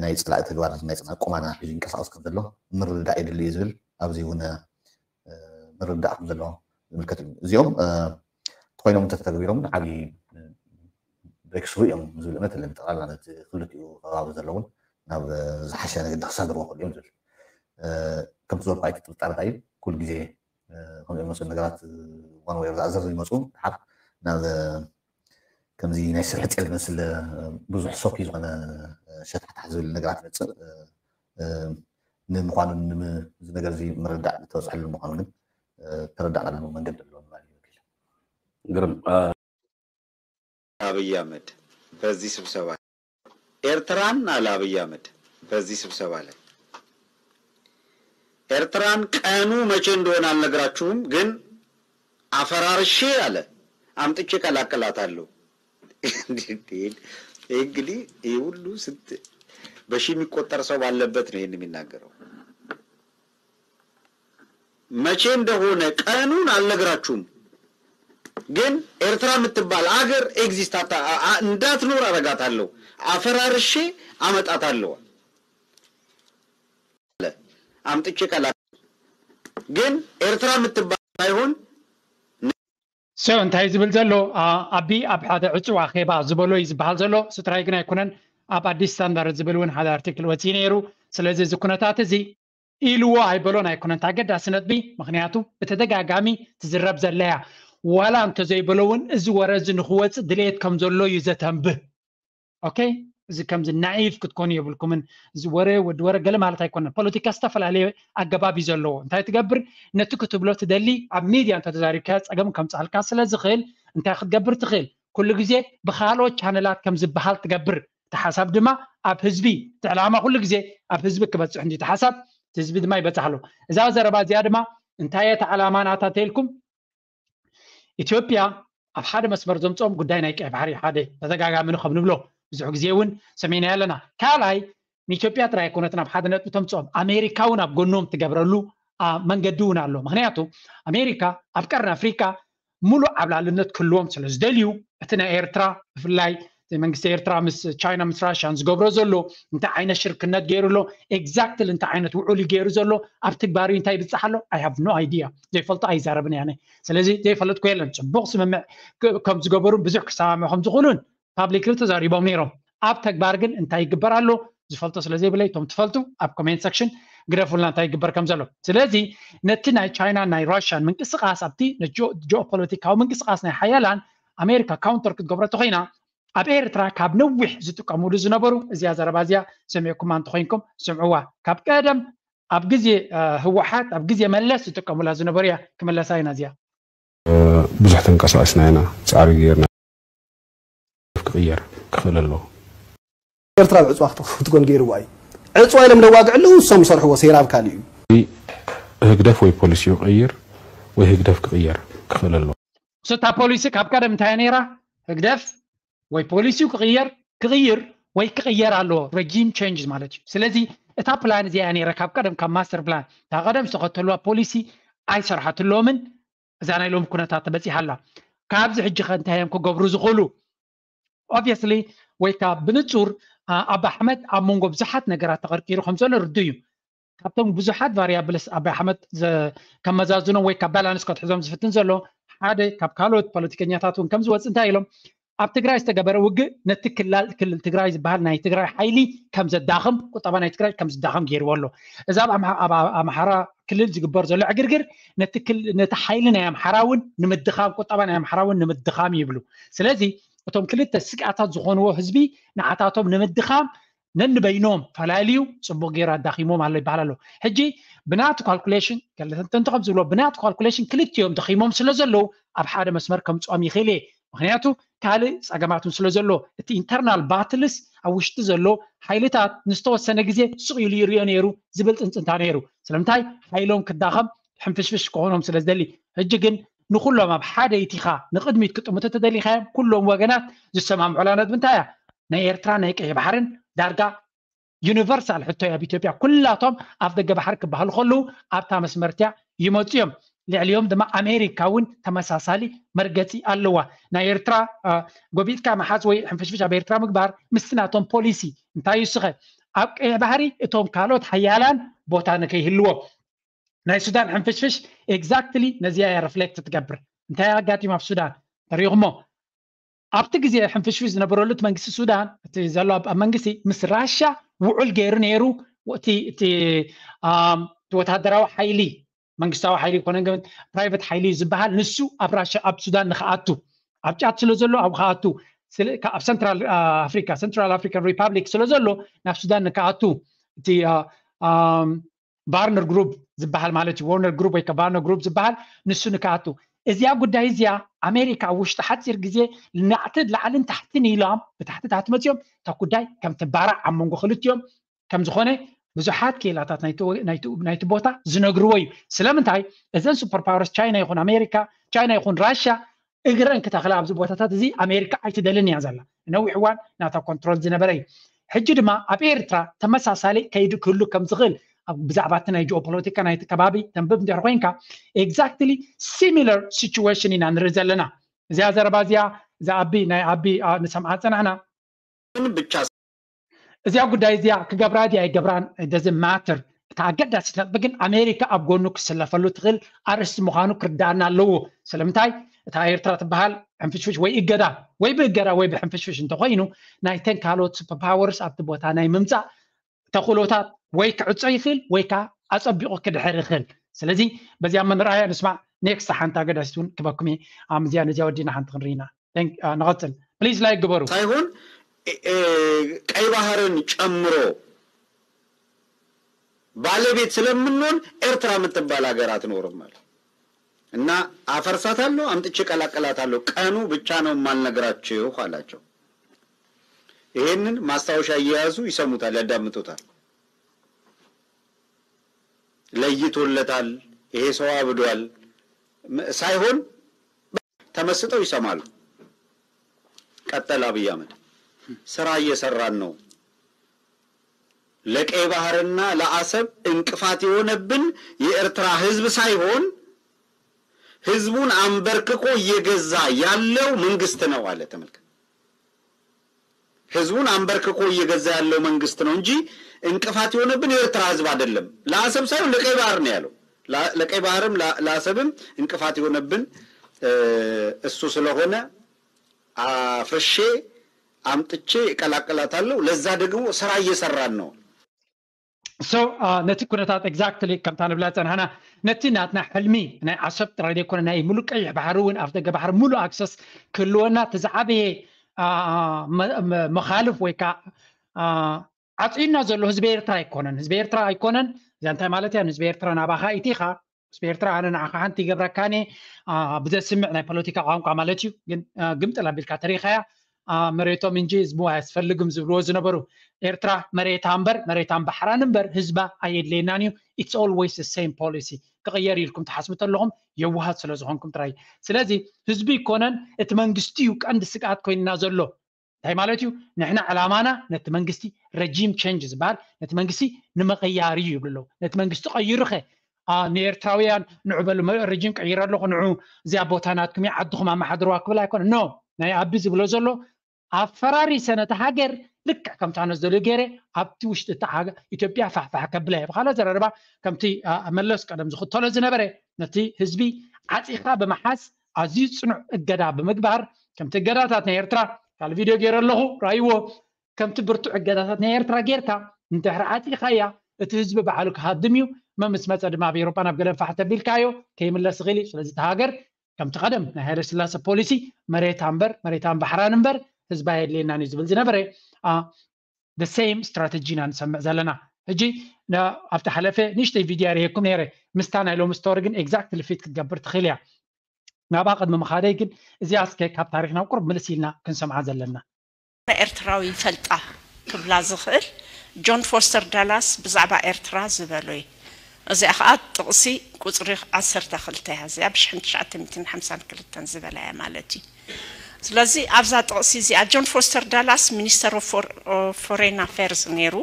ናይ ፅላኢ ተግባር ናይ ፅላኢ ቁማና ሒዙ ይንቀሳቀስ ከም ዘሎ ምርዳእ የድሊ እዩ ዝብል ኣብዚ እውን ምርዳእ ከም ዘሎ ዝምልከት እዩ። እዚኦም ተኮይኖም እንተተግቢሮም ዓብዪ ብሬክስሩ እዮም ዝብል እምነት ኣለኒ። ጠቕላላ ነቲ ክልቲኡ ከባቢ ዘለውን ናብ ዝሓሸ መገዲ ክሳገርዎ ክኽእሉ እዮም ዝብል ከምቲ ዝበልኩ ኣይትጥርጠር እንታይ እዩ ኩሉ ግዜ ከምዚኦም መሰል ነገራት ዋን ወይ ዛእዘር ይመፁ ድሓር ናብ ከምዚ ናይ ስርሒ ጤል ዝመስል ብዙሕ ሶኪ ዝኾነ ሸታሕታሕ ዝብል ነገራት ይመፅእ ንምዃኑ እዚ ነገር እዚ ምርዳእ ዝተበፅሐሉ ምዃኑ ግን ተረዳእናሉ መንገዲ ኣለዎ ማለት እዩ። ግርም አብይ አህመድ በዚህ ስብሰባ ኤርትራን አለ አብይ አህመድ በዚህ ስብሰባ ላይ ኤርትራን ቀኑ መቼ እንደሆነ አልነግራችሁም፣ ግን አፈራርሼ አለ አምጥቼ ቀላቅላታለሁ። እንግዲህ ይህ ሁሉ ስንት በሺ የሚቆጠር ሰው ባለበት ነው ይህን የሚናገረው። መቼ እንደሆነ ቀኑን አልነግራችሁም፣ ግን ኤርትራ የምትባል አገር ኤግዚስት እንዳትኖር አረጋታለሁ፣ አፈራርሼ አመጣታለሁ። አምጥቼ ቀላ ግን ኤርትራ የምትባል ሳይሆን ሰው እንታይ ዝብል ዘሎ ኣቢ ኣብ ሓደ ዕፅዋ ኼባ ዝበሎ እዩ ዝበሃል ዘሎ። ስጥራይ ግን ኣይኮነን፣ ኣብ ኣዲስ ስታንዳርድ ዝብል እውን ሓደ ኣርቲክል ወፂ ነይሩ። ስለዚ እዚ ኩነታት እዚ ኢልዎ ኣይበሎን ኣይኮነን ኣገዳሲ ነጥቢ፣ ምክንያቱ ብተደጋጋሚ ትዝረብ ዘለያ ዋላ እንተዘይበሎ እውን እዚ ወረ እዚ ንክወፅእ ድሌት ከም ዘሎ እዩ ዘተንብህ። ኦኬ፣ እዚ ከምዚ ናኢፍ ክትኮኑ የብልኩምን። እዚ ወረ ወዲ ወረ ገለ ማለት ኣይኮነን። ፖለቲካ ዝተፈላለየ ኣገባብ እዩ ዘለዎ። እንታይ ትገብር? ነቲ ክትብሎ ትደሊ ኣብ ሚድያ እንተተዛሪብካ ፀገም ከምፅኣልካ ስለ ዝኽእል እንታይ ክትገብር ትኽእል? ኩሉ ግዜ ብካልኦት ቻነላት ከም ዝበሃል ትገብር። እቲ ሓሳብ ድማ ኣብ ህዝቢ፣ እቲ ዕላማ ኩሉ ግዜ ኣብ ህዝቢ ክበፅሕ እንዲ እቲ ሓሳብ፣ እቲ ህዝቢ ድማ ይበፅሕ ኣሎ። እዛ ዘረባ እዚኣ ድማ እንታይ እየ እቲ ዕላማ ናታ ተልኩም ኢትዮጵያ ኣብ ሓደ መስመር ዘምፅኦም ጉዳይ ናይ ቀይ ባሕሪ ሓደ ተደጋጋሚ ከም ንብሎ ብዙሕ ግዜ እውን ሰሚዕና ኣለና። ካልኣይ ንኢትዮጵያ ጥራይ ኣይኮነትን ኣብ ሓደ ነጥቢ ተምፅኦም ኣሜሪካ እውን ኣብ ጎኖም ትገብረሉ መንገዲ እውን ኣሎ። ምክንያቱ ኣሜሪካ ኣብ ቀርኒ ኣፍሪካ ሙሉእ ዓብላልነት ክህልዎም ስለ ዝደልዩ እቲ ናይ ኤርትራ ብፍላይ መንግስቲ ኤርትራ ምስ ቻይና ምስ ራሽያን ዝገብሮ ዘሎ እንታይ ዓይነት ሽርክነት ገይሩ ኣሎ፣ exactly እንታይ ዓይነት ውዑል እዩ ገይሩ ዘሎ፣ ኣብ ትግባር እንታይ ይብጻሕ ኣሎ? I have no idea። ዘይፈልጦ ኣይዛረብን እየ ኣነ። ስለዚ ዘይፈልጥኩ የለን። ጽቡቕ ስምምዕ ከም ዝገበሩን ብዙሕ ክሰማምዑ ከም ዝኽእሉን publicly ተዛሪቦም ነይሮም። ኣብ ተግባር ግን እንታይ ይግበር ኣሎ ዝፈልጦ ስለ ዘይብለይ፣ እቶም ትፈልጡ ኣብ comment section ግደፉልና እንታይ ይግበር ከም ዘሎ። ስለዚ ነቲ ናይ ቻይና ናይ ራሽያን ምንቅስቃስ ኣብቲ ጂኦፖለቲካዊ ምንቅስቃስ ናይ ሓያላን ኣሜሪካ counter ክትገብሮ ተኮይና ኣብ ኤርትራ ካብ ነዊሕ ዝጥቀሙሉ ዝነበሩ እዚኣ ዘረባ እዚኣ ሰሚዕኩማ እንተኮይንኩም ስምዕዋ። ካብ ቀደም ኣብ ግዜ ህወሓት ኣብ ግዜ መለስ ዝጥቀሙላ ዝነበሩ እያ። ክመለሳ ኢና እዚኣ። ብዙሕ ተንቀሳቂስና ኢና፣ ፃዕሪ ገይርና ክቅየር ክኽእል ኣለዎ። ኤርትራ ብዕፅዋ ክትኮን ገይርዋ እዩ። ዕፅዋ ኢሎም ደዋግዕሉ እሶም ይሰርሕዎ ሴራ ኣብ ካሊእ እዩ። ህግደፍ ወይ ፖሊሲኡ ክቅይር ወይ ህግደፍ ክቅየር ክኽእል ኣለዎ። እታ ፖሊሲ ካብ ቀደም እንታይ ነይራ? ህግደፍ ወይ ፖሊሲኡ ክቅየር ክቅይር ወይ ክቅየር ኣለዎ። Regime change ማለት እዩ። ስለዚ እታ ፕላን እዚኣ ነይራ ካብ ቀደም ካብ ማስተር ፕላን እታ ቀደም ዝተኸተልዋ ፖሊሲ ኣይሰርሓትሎምን። እዛ ናይ ሎሚ ኩነታት ተበፂሓ ኣላ። ካብዚ ሕጂ ከ እንታይ እዮም ክገብሩ ዝኽእሉ? Obviously ወይ ከዓ ብንፁር ኣባ ኣሕመድ ኣብ መንጎ ብዙሓት ነገራት ተቐርቂሩ ከም ዘሎ ርዱእ እዩ። ካብቶም ብዙሓት variables ኣባ ኣሕመድ ከመዛዝኖም ወይ ካብ ባላንስ ከትሕዞም ዝፍትን ዘሎ ሓደ ካብ ካልኦት ፖለቲከኛታት እውን ከም ዝወፅ እንታይ ኢሎም ኣብ ትግራይ ዝተገበረ ውግእ ነቲ ክላል ክልል ትግራይ ዝበሃል ናይ ትግራይ ሓይሊ ከም ዘዳኽም ቁጠባ ናይ ትግራይ ከም ዝዳኸም ገይርዎ ኣሎ። እዚ ኣብ ኣምሓራ ክልል ዝግበር ዘሎ ዕግርግር ነቲ ሓይሊ ናይ ኣምሓራ እውን ንምድኻም ቁጠባ ናይ ኣምሓራ እውን ንምድኻም ይብሉ። ስለዚ እቶም ክልተ ስግኣታት ዝኾንዎ ህዝቢ ንዓታቶም ንምድኻም ነንበይኖም ፈላልዩ ፅቡቕ ገይሩ ኣዳኺሞም ኣሎ ይበሃል ኣሎ። ሕጂ ብናቱ calculation ገለ ተንተንቲ ከም ዝብሎ ብናቱ calculation ክልቲኦም ደኺሞም ስለ ዘለዉ ኣብ ሓደ መስመር ከምፅኦም ይኽእል እየ። ምክንያቱ ካልእ ፀገማት እውን ስለ ዘሎ እቲ internal battles ኣብ ውሽጢ ዘሎ ሓይልታት ንዝተወሰነ ግዜ ስቕ ኢሉ ይርዮ ነይሩ ዝብል ፅንፅንታ ነይሩ። ስለምንታይ ሓይሎም ክዳኸም ሕንፍሽፍሽ ክኾኖም ስለ ዝደሊ። ሕጂ ግን ንኩሎም ኣብ ሓደ ኢቲኻ ንቕድሚት ክጥምቱ ተደሊኻዮም ኩሎም ወገናት ዝሰማምዑላ ነጥቢ እንታይ እያ? ናይ ኤርትራ ናይ ቀይ ባሕርን ዳርጋ ዩኒቨርሳል ሕቶ እያ ኣብ ኢትዮጵያ። ኩላቶም ኣፍ ደገ ባሕሪ ክበሃሉ ከለዉ ኣብታ መስመርትያ ይመፁ እዮም። ልዕሊኦም ድማ ኣሜሪካ እውን ተመሳሳሊ መርገፂ ኣለዋ። ናይ ኤርትራ ጎቢጥካ ምሓዝ ወይ ሕንፍሽፍሽ ኣብ ኤርትራ ምግባር ምስቲ ናቶም ፖሊሲ እንታይ እዩ ስኸ ኣብ ቀይሕ ባሕሪ እቶም ካልኦት ሓያላን ቦታ ንከይህልዎም ናይ ሱዳን ሕንፍሽፍሽ exactly ነዚኣ እያ reflect ትገብር። እንታይ ኣጋጢሙ ኣብ ሱዳን ተሪኹሞ? ኣብቲ ግዜ ሕንፍሽፍሽ ዝነበረሉ እቲ መንግስቲ ሱዳን እቲ ዘሎ ኣብ መንግስቲ ምስ ራሻ ውዑል ገይሩ ነይሩ። እቲ እቲ ወታደራዊ ሓይሊ መንግስታዊ ሓይሊ ይኮነ ግን ፕራይቨት ሓይሊ ዝበሃል ንሱ ኣብ ራሻ ኣብ ሱዳን ንክኣቱ ኣብ ጫት ስለ ዘሎ ኣብ ክኣቱ ኣብ ሰንትራል ኣፍሪካ ሰንትራል ኣፍሪካን ሪፓብሊክ ስለ ዘሎ ናብ ሱዳን ንክኣቱ እቲ ባርነር ግሩፕ ዝበሃል ማለት እዩ። ዋርነር ግሩፕ ወይ ቫርነር ግሩፕ ዝበሃል ንሱ ንክኣቱ እዚኣ ጉዳይ እዚኣ ኣሜሪካ ኣብ ውሽጢ ሓፂር ግዜ ናዕቲ ላዕልን ታሕትን ኢሎም ብታሕቲ ታሕቲ መፅኦም እታ ጉዳይ ከም ትባራዕ ኣብ መንጎ ክልቲኦም ከም ዝኾነ ብዙሓት ክኢላታት ናይቲ ቦታ ዝነግርዎ እዩ። ስለምንታይ እዘን ሱፐር ፓወርስ ቻይና ይኹን ኣሜሪካ ቻይና ይኹን ራሽያ እግረን ክተኽላ ኣብዚ ቦታታት እዚ ኣሜሪካ ኣይትደልን እያ ዘላ። ነዊሕ እዋን ናታ ኮንትሮል ዝነበረ እዩ። ሕጂ ድማ ኣብ ኤርትራ ተመሳሳሊ ከይዲ ክህሉ ከም ዝኽእል ብዛዕባ እቲ ናይ ጂኦፖለቲካ ናይቲ ከባቢ ተንብብ እንድሕር ኮይንካ exactly similar situation ኢና ንርኢ ዘለና። እዚኣ ዘረባ እዚኣ እዛ ኣቢ ናይ ኣቢ ንሰምዓ ፀናሕና ግን ብቻ እዚኣ ጉዳይ እዚኣ ክገብራ ድያ ኣይገብራን ደዚ ማተር። እታ ኣገዳሲት ነጥቢ ግን ኣሜሪካ ኣብ ጎኑ ክስለፈሉ ትኽእል ኣርእስቲ ምዃኑ ክርዳኣና ኣለዎ። ስለምንታይ እታ ኤርትራ ትበሃል ሕንፍሽፍሽ ወይ እገዳ ወይ ብእገዳ ወይ ብሕንፍሽፍሽ እንተኮይኑ ናይተን ካልኦት ሱፐር ፓወርስ ኣብቲ ቦታ ናይ ምምፃእ ተኽእሎታት ወይ ክዕፆ ይኽእል ወይ ከዓ ኣፀቢቑ ክድሕር ይኽእል። ስለዚ በዚኣ መን ረኣያ ንስማዕ። ኔክስት ሓንቲ ኣገዳሲት እውን ክበኩም እየ። ኣምዚያ ነዚያ ወዲና ሓንቲ ክንርኢና ንቐፅል። ፕሊዝ ላይክ ግበሩ። ሳይሆን ቀይ ባህርን ጨምሮ ባለቤት ስለምንሆን ኤርትራ የምትባል ሀገር አትኖርም አለ እና አፈርሳታለሁ፣ አምጥቼ እቀላቅላታለሁ፣ ቀኑ ብቻ ነው የማልነግራችሁ አላቸው። ይሄንን ማስታወሻ እየያዙ ይሰሙታል፣ ያዳምጡታል። ለይቶለታል፣ ይሄ ሰው አብዷል ሳይሆን ተመስጠው ይሰማሉ። ቀጠለ አብይ አህመድ ስራ እየሰራን ነው። ለቀይ ባህርና ለአሰብ እንቅፋት የሆነብን የኤርትራ ህዝብ ሳይሆን ህዝቡን አንበርክኮ እየገዛ ያለው መንግስት ነው አለ። ተመልከት። ህዝቡን አንበርክኮ እየገዛ ያለው መንግስት ነው እንጂ እንቅፋት የሆነብን የኤርትራ ህዝብ አይደለም። ለአሰብ ሳይሆን ለቀይ ባህር ነው ያለው። ለቀይ ባህርም ለአሰብም እንቅፋት የሆነብን እሱ ስለሆነ አፍርሼ አምጥቼ እቀላቅላታለሁ። ለዛ ደግሞ ስራ እየሰራን ነው። So ነቲ ኩነታት exactly ከምታ ንብላ ጸናሕና ነቲ ናትና ሕልሚ ናይ ዓሰብ ጥራይ ዘይኮነ ናይ ሙሉእ ቀይሕ ባሕሪ እውን ኣፍ ደገ ባሕሪ ሙሉእ access ክህልወና እቲ ዝዓበየ መኻልፍ ወይ ከዓ ዓፅዩና ዘሎ ህዝቢ ኤርትራ ኣይኮነን። ህዝቢ ኤርትራ ኣይኮነን። እዚኣ እንታይ ማለት እያ? ንህዝቢ ኤርትራ ናባኻ ኢቲኻ ህዝቢ ኤርትራ ኣነ ንዓኻ ሓንቲ ይገብረካኒ ብዘስምዕ ናይ ፖለቲካ ቋንቋ ማለት እዩ። ግን ግምጥል ኣቢልካ ተሪኻያ መሬቶም እንጂ ህዝቡ ኣያስፈልግም ዝብልዎ ዝነበሩ ኤርትራ መሬታ እምበር መሬታን ባሕራን እምበር ህዝባ ኣየድልየናን እዩ። It's always the same policy። ክቕየር ኢልኩም ትሓስቡ ተለኹም የዋሃት ስለ ዝኾንኩም ጥራይ። ስለዚ ህዝቢ ይኮነን እቲ መንግስቲ እዩ ቀንዲ ስግኣት ኮይንና ዘሎ። እንታይ ማለት እዩ? ንሕና ዕላማና ነቲ መንግስቲ regime change ዝበሃል ነቲ መንግስቲ ንምቕያር እዩ ይብሉ ኣለዉ። ነቲ መንግስቲ ቀይሩኸ ንኤርትራውያን ንዑ በሉ ረጂም ቀይረ ኣለኹ ንዑ እዚኣ ቦታ ናትኩም እያ ዓድኹም ኣመሓድርዋ ክብል ኣይኮነ ኖ ናይ ኣቢ ዝብሎ ዘሎ ኣፈራሪሰ ነቲ ሃገር ልክዕ ከምታ ነዝደልዮ ገይረ ኣብቲ ውሽጢ እታ ኢትዮጵያ ፋሕፋሕ ከብላ እየ ብካልእ ዘረርባ ከምቲ መለስ ቀደም ዝኽተሎ ዝነበረ ነቲ ህዝቢ ዓፂኻ ብምሓዝ ኣዝዩ ፅኑዕ እገዳ ብምግባር ከምቲ እገዳታት ናይ ኤርትራ ካልእ ቪድዮ ገይረ ኣለኹ ራይዎ ከምቲ ብርቱዕ እገዳታት ናይ ኤርትራ ጌርካ እንድሕሪ ዓፂኻያ እቲ ህዝቢ ባዕሉ ክሃድም እዩ መምስ መፀ ድማ ኣብ ኤሮጳ ናብ ገለን ፋሕ ተቢልካዮ ከይምለስ ይኽእል እዩ ስለዚ እቲ ሃገር ከምቲ ቀደም ናይ ሃይለ ስላሰ ፖሊሲ መሬታ እምበር መሬታን ባሕራን እምበር ህዝባ የድልየናን እዩ ዝብል ዝነበረ the same strategy ኢና ንሰምዕ ዘለና ሕጂ ኣብቲ ሓለፈ ንእሽተይ ቪድዮ ርሄኩም ነይረ ምስታ ናይ ሎሚ ስቶሪ ግን exactly fit ክትገብር ትኽእል እያ ናብኣ ቅድሚ ምኻደይ ግን እዚኣ እስከ ካብ ታሪክ ናብ ቁርብ ምልስ ኢልና ክንሰምዓ ዘለና ኤርትራዊ ይፈልጣ ክብላ ዝኽእል ጆን ፎስተር ዳላስ ብዛዕባ ኤርትራ ዝበሎ እዩ። እዚኣ ኸዓ ጥቕሲ ቁፅሪ ዓሰርተ ክልተ እያ። እዚኣ ብ1952 ዝበላ እያ ማለት እዩ። ስለዚ ኣብዛ ጥቕሲ እዚኣ ጆን ፎስተር ዳላስ ሚኒስተር ኦፍ ፎሬን ኣፌርስ ነይሩ።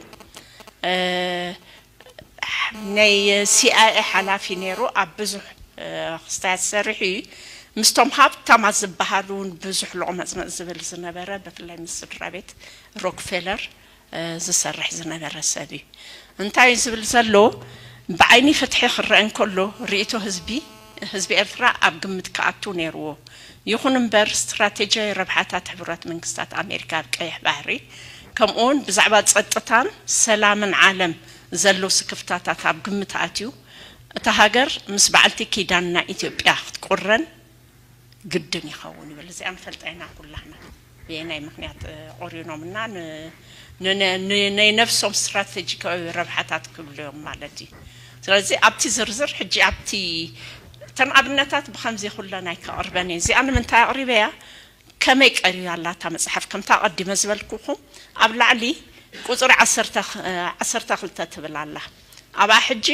ናይ ሲኣይኤ ሓላፊ ነይሩ ኣብ ብዙሕ ክስታያት ዝሰርሕ እዩ ምስቶም ሃብታማት ዝበሃሉ እውን ብዙሕ ሎቕመፅመፅ ዝብል ዝነበረ ብፍላይ ምስ ስድራ ቤት ሮክፌለር ዝሰርሕ ዝነበረ ሰብ እዩ እንታይ እዩ ዝብል ዘሎ ብዓይኒ ፍትሒ ክረአ እንከሎ ርእቶ ህዝቢ ህዝቢ ኤርትራ ኣብ ግምት ክኣቱ ነይርዎ ይኹን እምበር ስትራቴጂያዊ ረብሓታት ሕቡራት መንግስታት ኣሜሪካ ኣብ ቀይሕ ባሕሪ ከምኡውን ብዛዕባ ጸጥታን ሰላምን ዓለም ዘሎ ስክፍታታት ኣብ ግምት ኣትዩ እታ ሃገር ምስ በዓልቲ ኪዳንና ኢትዮጵያ ክትቁረን ግድን ይኸውን ይብል። እዚኣ ንፈልጣ ኢና ኩላህና ብየናይ ምኽንያት ቆሪኖምና ናይ ነፍሶም ስትራቴጂካዊ ረብሓታት ክብሉ እዮም ማለት እዩ። ስለዚ ኣብቲ ዝርዝር ሕጂ ኣብቲ እተን ኣብነታት ብከምዚ ኩለን ኣይከቕርበን እየ። እዚኣ ንምንታይ ኣቕሪበያ? ከመይ ቀሪባ ኣላ እታ መፅሓፍ ከምታ ኣቐዲመ ዝበልኩኹም ኣብ ላዕሊ ቁፅሪ ዓሰርተ ክልተ ትብል ኣላ ኣብኣ ሕጂ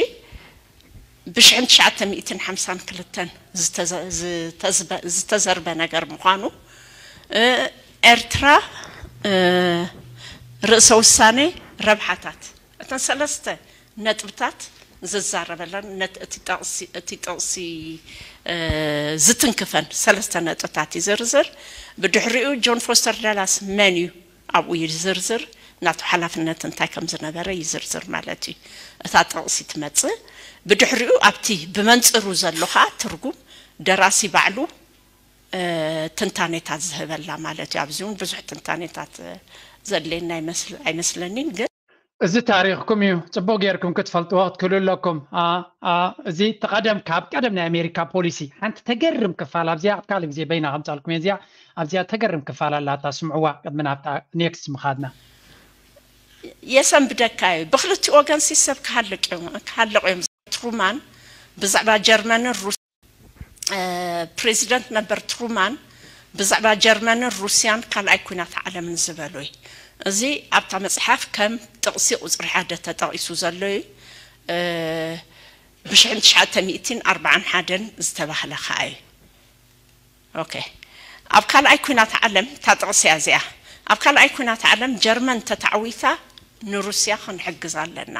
ብሽሕን ትሽዓተ ሚእትን ሓምሳን ክልተን ዝተዘርበ ነገር ምዃኑ ኤርትራ ርእሰ ውሳኔ ረብሓታት እተን ሰለስተ ነጥብታት ዝዛረበለን እቲ ጥቕሲ ዝትንክፈን ሰለስተ ነጥብታት ይዝርዝር። ብድሕሪኡ ጆን ፎስተር ዳላስ መን እዩ ኣብኡ ይዝርዝር፣ ናቱ ሓላፍነት እንታይ ከም ዝነበረ ይዝርዝር ማለት እዩ። እታ ጥቕሲ ትመጽእ። ብድሕሪኡ ኣብቲ ብመንጽሩ ዘሎ ኸኣ ትርጉም ደራሲ ባዕሉ ትንታኔታት ዝህበላ ማለት እዩ። ኣብዚ እውን ብዙሕ ትንታኔታት ዘድልየና ኣይመስለኒን ግን እዚ ታሪኽኩም እዩ። ጽቡቕ ጌርኩም ክትፈልጥዎ ክትክእሉ ኣለኩም። እዚ ተቐደም ካብ ቀደም ናይ ኣሜሪካ ፖሊሲ ሓንቲ ተገርም ክፋል ኣብዚኣ ኣብ ካልእ ግዜ በይና ከምጻልኩም እየ። እዚኣ ኣብዚኣ ተገርም ክፋል ኣላታ ስምዕዋ ቅድሚ ናብታ ኔክስት ምኻድና። የሰንብደካ እዩ። ብክልቲኡ ወገን ሲ ሰብ ክሃልቅ እዮም ክሃልቁ እዮም። ትሩማን ብዛዕባ ጀርመንን ሩስ ፕሬዚደንት ነበር ትሩማን ብዛዕባ ጀርመንን ሩስያን ካልኣይ ኩናት ዓለምን ዝበሎ እዩ። እዚ ኣብታ መፅሓፍ ከም ጥቕሲ ቁፅሪ ሓደ ተጠቒሱ ዘሎ እዩ። ብሽሕን ትሽዓተ ሚእትን ኣርባዓን ሓደን ዝተባህለ ከዓ እዩ። ኦኬ ኣብ ካልኣይ ኩናት ዓለም እታ ጥቕሲ እያ እዚኣ። ኣብ ካልኣይ ኩናት ዓለም ጀርመን ተታዕዊታ ንሩስያ ክንሕግዝ ኣለና።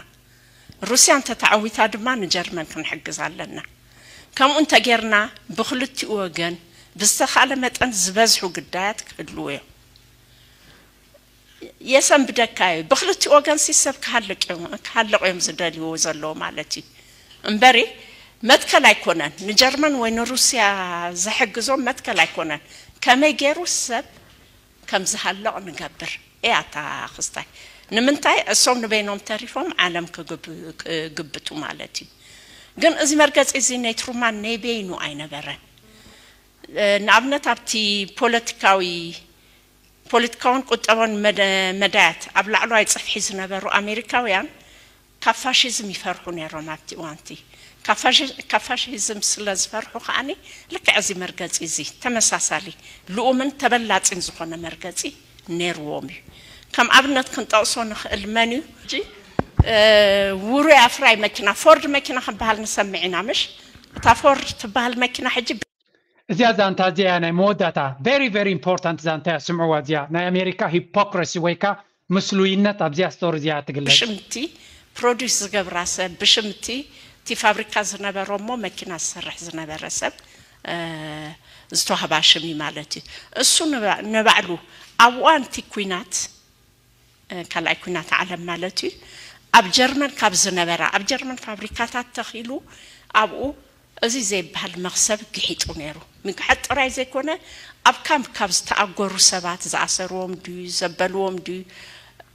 ሩስያ እንተተዓዊታ ድማ ንጀርመን ክንሕግዝ ኣለና። ከምኡ እንተጌርና ብኽልቲኡ ወገን ብዝተኻእለ መጠን ዝበዝሑ ግዳያት ክህልዉ እዮም። የሰንብደካ እዩ። ብክልቲኡ ወገን ሲ ሰብ ክሃልቅ እዮም፣ ክሃልቅ እዮም ዝደልይዎ ዘለዉ ማለት እዩ። እምበሪ መትከል ኣይኮነን። ንጀርመን ወይ ንሩስያ ዘሕግዞም መትከል ኣይኮነን። ከመይ ገይሩ ሰብ ከም ዝሃልቕ ንገብር እያ እታ ክስታይ። ንምንታይ እሶም ንበይኖም ተሪፎም ዓለም ክግብ-፣ ክግብቱ ማለት እዩ። ግን እዚ መርገጺ እዚ ናይ ትሩማን ናይ በይኑ ኣይነበረን። እ፣ ንኣብነት ኣብቲ ፖለቲካዊ፣ ፖለቲካውን ቁጠባውን መደ-፣ መዳያት ኣብ ላዕለዋይ ጽፍሒ ዝነበሩ ኣሜሪካውያን ካብ ፋሽዝም ይፈርሑ ነይሮም ኣብቲ እዋንቲ። ካብ ፋሺ-፣ ካብ ፋሽዝም ስለ ዝፈርሑ ከዓኒ ልክዕ እዚ መርገጺ እዚ ተመሳሳሊ ልኡምን ተበላጺን ዝኾነ መርገጺ ነይርዎም እዩ። ከም ኣብነት ክንጠቕሶ ንኽእል መን እዩ? ሕጂ፣ እ፣ ውሩይ ኣፍራይ መኪና፣ ፎርድ መኪና ክበሃል ንሰምዕ ኢና፣ ምሽ? እታ ፎርድ ትበሃል መኪና ሕጂ እዚኣ ዛንታ እዚኣ ናይ መወዳእታ very very important ዛንታ እያ፣ ስምዕዋ። እዚኣ ናይ ኣሜሪካ ሂፖክረሲ ወይ ከኣ ምስሉይነት ኣብዚኣ ስቶሪ እዚኣ ትግለጽ። ብሽምቲ ፕሮዲስ ዝገብራ ሰብ፣ ብሽምቲ እቲ ፋብሪካ ዝነበሮ እሞ መኪና ዝሰርሕ ዝነበረ ሰብ፣ እ፣ ዝተዋህባ ሽም እዩ ማለት እዩ። እሱ ንባ-፣ ንባዕሉ ኣብ እዋን እቲ ኲናት፣ እ፣ ካልኣይ ኲናት ዓለም ማለት እዩ፣ ኣብ ጀርመን ካብ ዝነበራ፣ ኣብ ጀርመን ፋብሪካታት ተኺሉ ኣብኡ እዚ ዘይበሃል መኽሰብ ግሒጡ ነይሩ። ምግሓጥ ጥራይ ዘይኮነ፣ ኣብ ካምፕ ካብ ዝተኣጎሩ ሰባት፣ ዝኣሰርዎም ድዩ፣ ዘበልዎም ድዩ፣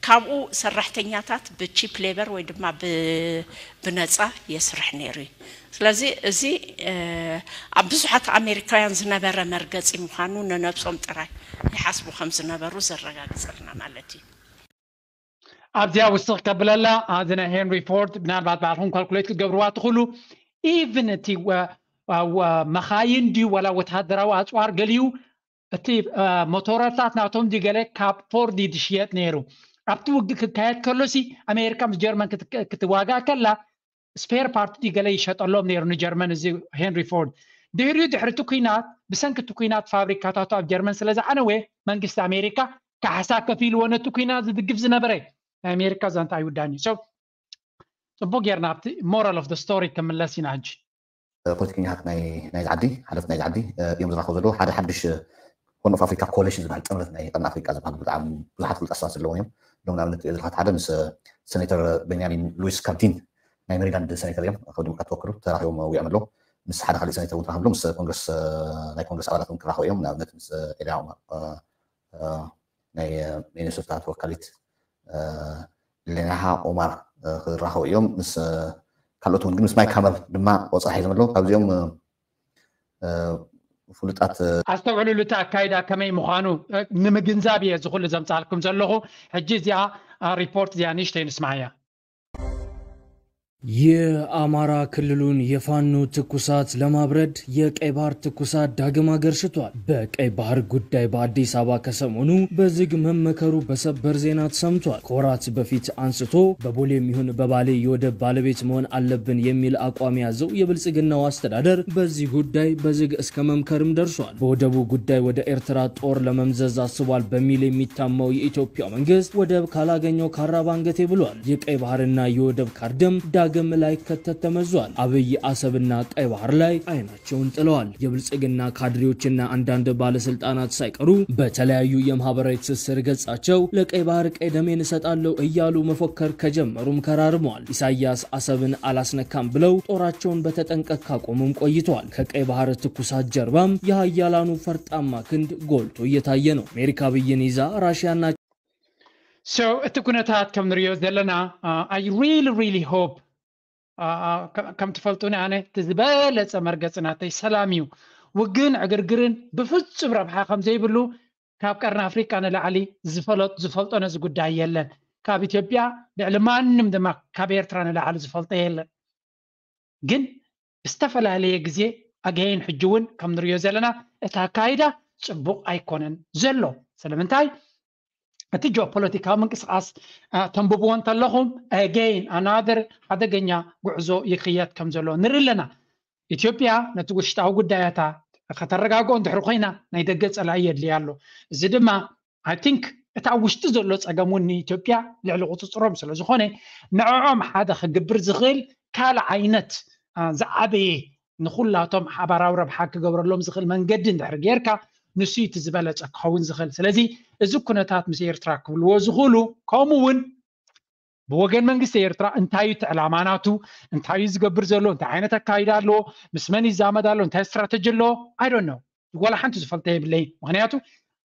ካብኡ ሰራሕተኛታት ብቺፕ ሌበር ወይ ድማ ብ-፣ ብነጻ የስርሕ ነይሩ እዩ። ስለዚ እዚ፣ እ፣ ኣብ ብዙሓት ኣሜሪካውያን ዝነበረ መርገጺ ምዃኑ ነነብሶም ጥራይ ይሓስቡ ከም ዝነበሩ ዘረጋግጸልና ማለት እዩ። ኣብዚኣ ውስኽ ከብለላ፣ እዚ ናይ ሄንሪ ፎርድ ምናልባት ባዕልኹም ካልኩሌት ክትገብርዋ ትኽእሉ። ኢቭን እቲ ወ-፣ ወ-፣ መኻይን ድዩ ዋላ ወተሃደራዊ ኣጽዋር ገሊኡ፣ እቲ፣ እ፣ ሞቶረታት ናቶም ድዩ ገለ ካብ ፎርድ እዩ ዝሽየጥ ነይሩ። ኣብቲ ውግእ ክካየድ ከሎሲ ኣሜሪካ ምስ ጀርመን ክት-፣ ክትዋጋእ ከላ ስፔር ፓርት ድዩ ገለ ይሸጠሎም ነይሩ ንጀርመን እዚ ሄንሪ ፎርድ። ድሕሪኡ ድሕሪ እቲ ኲናት፣ ብሰንኪ እቲ ኲናት ፋብሪካታቱ ኣብ ጀርመን ስለ ዝዓነወ መንግስቲ ኣሜሪካ ካሕሳ ከፊልዎ ነቲ ኲናት ዝድግፍ ዝነበረ ናይ ኣሜሪካ ዛንታ ኣይውዳእን እዩ። So፣ ጽቡቅ ጌርና ኣብቲ ሞራል ኦፍ ደ ስቶሪ ክምለስ ኢና ሕጂ። ፖለቲከኛታት ናይ፣ ናይዚ ዓዲ፣ ሓለፍቲ ናይዚ ዓዲ፣ እ፣ እዮም ዝራኸቡ ዘለዉ። ሓደ ሓድሽ፣ እ፣ ሆርን ኦፍ ኣፍሪካ ኮሊሽን ዝበሃል ጥምረት ናይ ቀርኒ ኣፍሪካ ዝበሃል ብጣዕሚ ብዙሓት ፍሉጣት ሰባት ዘለዎም እዮም። እዞም ንኣብነት ትሪኦ ዘለኻ ሓደ ምስ፣ እ፣ ሴኔተር ቤንያሚን ሉዊስ ካርዲን ናይ ሜሪላንድ ሴኔተር እዮም። ካብ ዲሞክራት ተወክሉ ተራኺቦም ውዒኦም ኣለዉ። ምስ ሓደ ካሊእ ሴኔተር እውን ተራኺቡ ኣሎ። ምስ ኮንግረስ፣ እ፣ ናይ ኮንግረስ ኣባላት እውን ክራኸቡ እዮም። ንኣብነት ምስ፣ እ፣ ኤልያ ኦማር፣ እ፣ እ፣ ናይ፣ እ፣ ሚኒሶታ ተወካሊት፣ እ፣ ሌናሃ ኦማር፣ እ፣ ክራኸቡ እዮም። ምስ፣ እ፣ ካልኦት እውን ግን ምስ ማይክ ሃመር ድማ ቆጸራ ሒዞም ኣለዉ። ካብዚኦም፣ እ፣ እ፣ ፍሉጣት፣ እ፣ ኣስተውዕሉሉ፣ እቲ ኣካይዳ ከመይ ምዃኑ፣ እ፣ ንምግንዛብ እየ እዚ ኩሉ ዘምጻልኩም ዘለኹ። ሕጂ እዚኣ፣ እ፣ ሪፖርት እዚኣ ንእሽተይ ንስማዓያ። የአማራ ክልሉን የፋኖ ትኩሳት ለማብረድ የቀይ ባህር ትኩሳት ዳግም አገርሽቷል። በቀይ ባህር ጉዳይ በአዲስ አበባ ከሰሞኑ በዝግ መመከሩ በሰበር ዜና ተሰምቷል። ከወራት በፊት አንስቶ በቦሌም ይሁን በባሌ የወደብ ባለቤት መሆን አለብን የሚል አቋም የያዘው የብልጽግናው አስተዳደር በዚህ ጉዳይ በዝግ እስከ መምከርም ደርሷል። በወደቡ ጉዳይ ወደ ኤርትራ ጦር ለመምዘዝ አስቧል በሚል የሚታማው የኢትዮጵያ መንግስት ወደብ ካላገኘው ካራ ባንገቴ ብሏል። የቀይ ባህርና የወደብ ካርድም ዳግም ላይከተት ተመዟል። አብይ አሰብና ቀይ ባህር ላይ አይናቸውን ጥለዋል። የብልጽግና ካድሬዎችና አንዳንድ ባለስልጣናት ሳይቀሩ በተለያዩ የማህበራዊ ትስስር ገጻቸው ለቀይ ባህር ቀይ ደሜን እሰጣለሁ እያሉ መፎከር ከጀመሩም ከራርመዋል። ኢሳያስ አሰብን አላስነካም ብለው ጦራቸውን በተጠንቀቅ ካቆሙም ቆይተዋል። ከቀይ ባህር ትኩሳት ጀርባም የሀያላኑ ፈርጣማ ክንድ ጎልቶ እየታየ ነው። አሜሪካ ብይን ይዛ ራሽያና So፣ እቲ ኩነታት ከም ንሪኦ ዘለና፣ uh, I really, really hope፣ uh, uh, ከ-፣ ከም ትፈልጡኒ ኣነ እቲ ዝበለጸ መርገጺ ናተይ ሰላም እዩ። ውግእን ዕግርግርን ብፍጹም ረብሓ ከም ዘይብሉ ካብ ቀርኒ ኣፍሪቃ ንላዕሊ ዝፈለጥ-፣ ዝፈልጦ ነዚ ጉዳይ የለን። ካብ ኢትዮጵያ ልዕሊ ማንም ድማ ካብ ኤርትራ ንላዕሊ ዝፈልጦ የለን። ግን ብዝተፈላለየ ግዜ ኣገይን ሕጂ እውን ከም ንሪኦ ዘለና እቲ ኣካይዳ ጽቡቕ ኣይኮነን ዘሎ። ስለምንታይ? እቲ ጂኦፖለቲካዊ ምንቅስቓስ፣ አ፣ ተንብብዎ እንተለኹም፣ ኣገይን ኣናደር ሓደገኛ ጉዕዞ ይኽየድ ከም ዘሎ ንርኢ ኣለና። ኢትዮጵያ ነቲ ውሽጣዊ ጉዳያታ ከተረጋግኦ እንድሕሪ ኮይና ናይ ደገ ጸላኢ የድልያ ኣሎ። እዚ ድማ፣ I think፣ እቲ ኣብ ውሽጢ ዘሎ ጸገም እውን ንኢትዮጵያ ልዕሊ ቁጽጽሮም ስለ ዝኾነ፣ ንዕኦም ሓደ ክግብር ዝኽእል ካልእ ዓይነት፣ አ፣ ዝዓበየ ንኹላቶም ሓባራዊ ረብሓ ክገብረሎም ዝኽእል መንገዲ እንድሕሪ ጌርካ፣ ንሱ እቲ ዝበለፀ ክኸውን ዝኽእል። ስለዚ እዚ ኩነታት ምስ ኤርትራ ክብልዎ ዝኽእሉ፣ ከምኡ እውን ብወገን መንግስቲ ኤርትራ እንታይ እዩ እቲ ዕላማ ናቱ፣ እንታይ እዩ ዝገብር ዘሎ፣ እንታይ ዓይነት ኣካይዳ ኣለዎ፣ ምስ መን ይዛመድ ኣሎ፣ እንታይ ስትራተጂ ኣለዎ፣ I don't know። ዋላ ሓንቲ ዝፈልጦ የብለይ። ምክንያቱ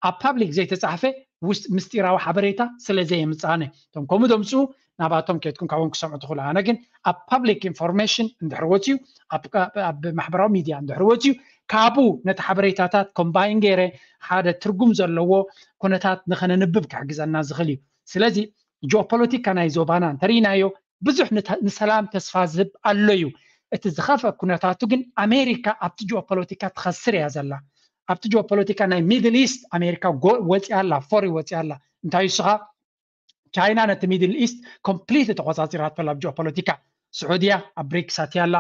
ኣብ ፓብሊክ ዘይተፃሕፈ ውስጥ ምስጢራዊ ሓበሬታ ስለ ዘየምፃነ፣ እቶም ከምኡ ዘምፅኡ ናባቶም ከድኩም ካብኦም ክሰምዑ ትኽእሉ። ኣነ ግን ኣብ ፓብሊክ ኢንፎርሜሽን እንድሕር ወፅዩ፣ ኣብ ማሕበራዊ ሚድያ እንድሕር ወፅዩ፣ ካብኡ ነቲ ሓበሬታታት ኮምባይን ገይረ ሓደ ትርጉም ዘለዎ ኩነታት ንኸነንብብ ክሕግዘና ዝኽእል እዩ። ስለዚ ጂኦፖለቲካ ናይ ዞባና እንተርኢናዮ ብዙሕ ንሰላም ተስፋ ዝህብ ኣሎ እዩ። እቲ ዝኸፍአ ኩነታቱ ግን ኣሜሪካ ኣብቲ ጂኦፖለቲካ ትኸስር እያ ዘላ። ኣብቲ ጂኦፖለቲካ ናይ ሚድል ኢስት ኣሜሪካ ወፂኣ ኣላ፣ ፎሪ ወፂኣ ኣላ። እንታይ ንስኻ ቻይና ነቲ ሚድል ኢስት ኮምፕሊት ተቆፃፂራቶ ኣብ ጂኦፖለቲካ። ስዑድያ ኣብ ብሪክስ ኣትያ ኣላ፣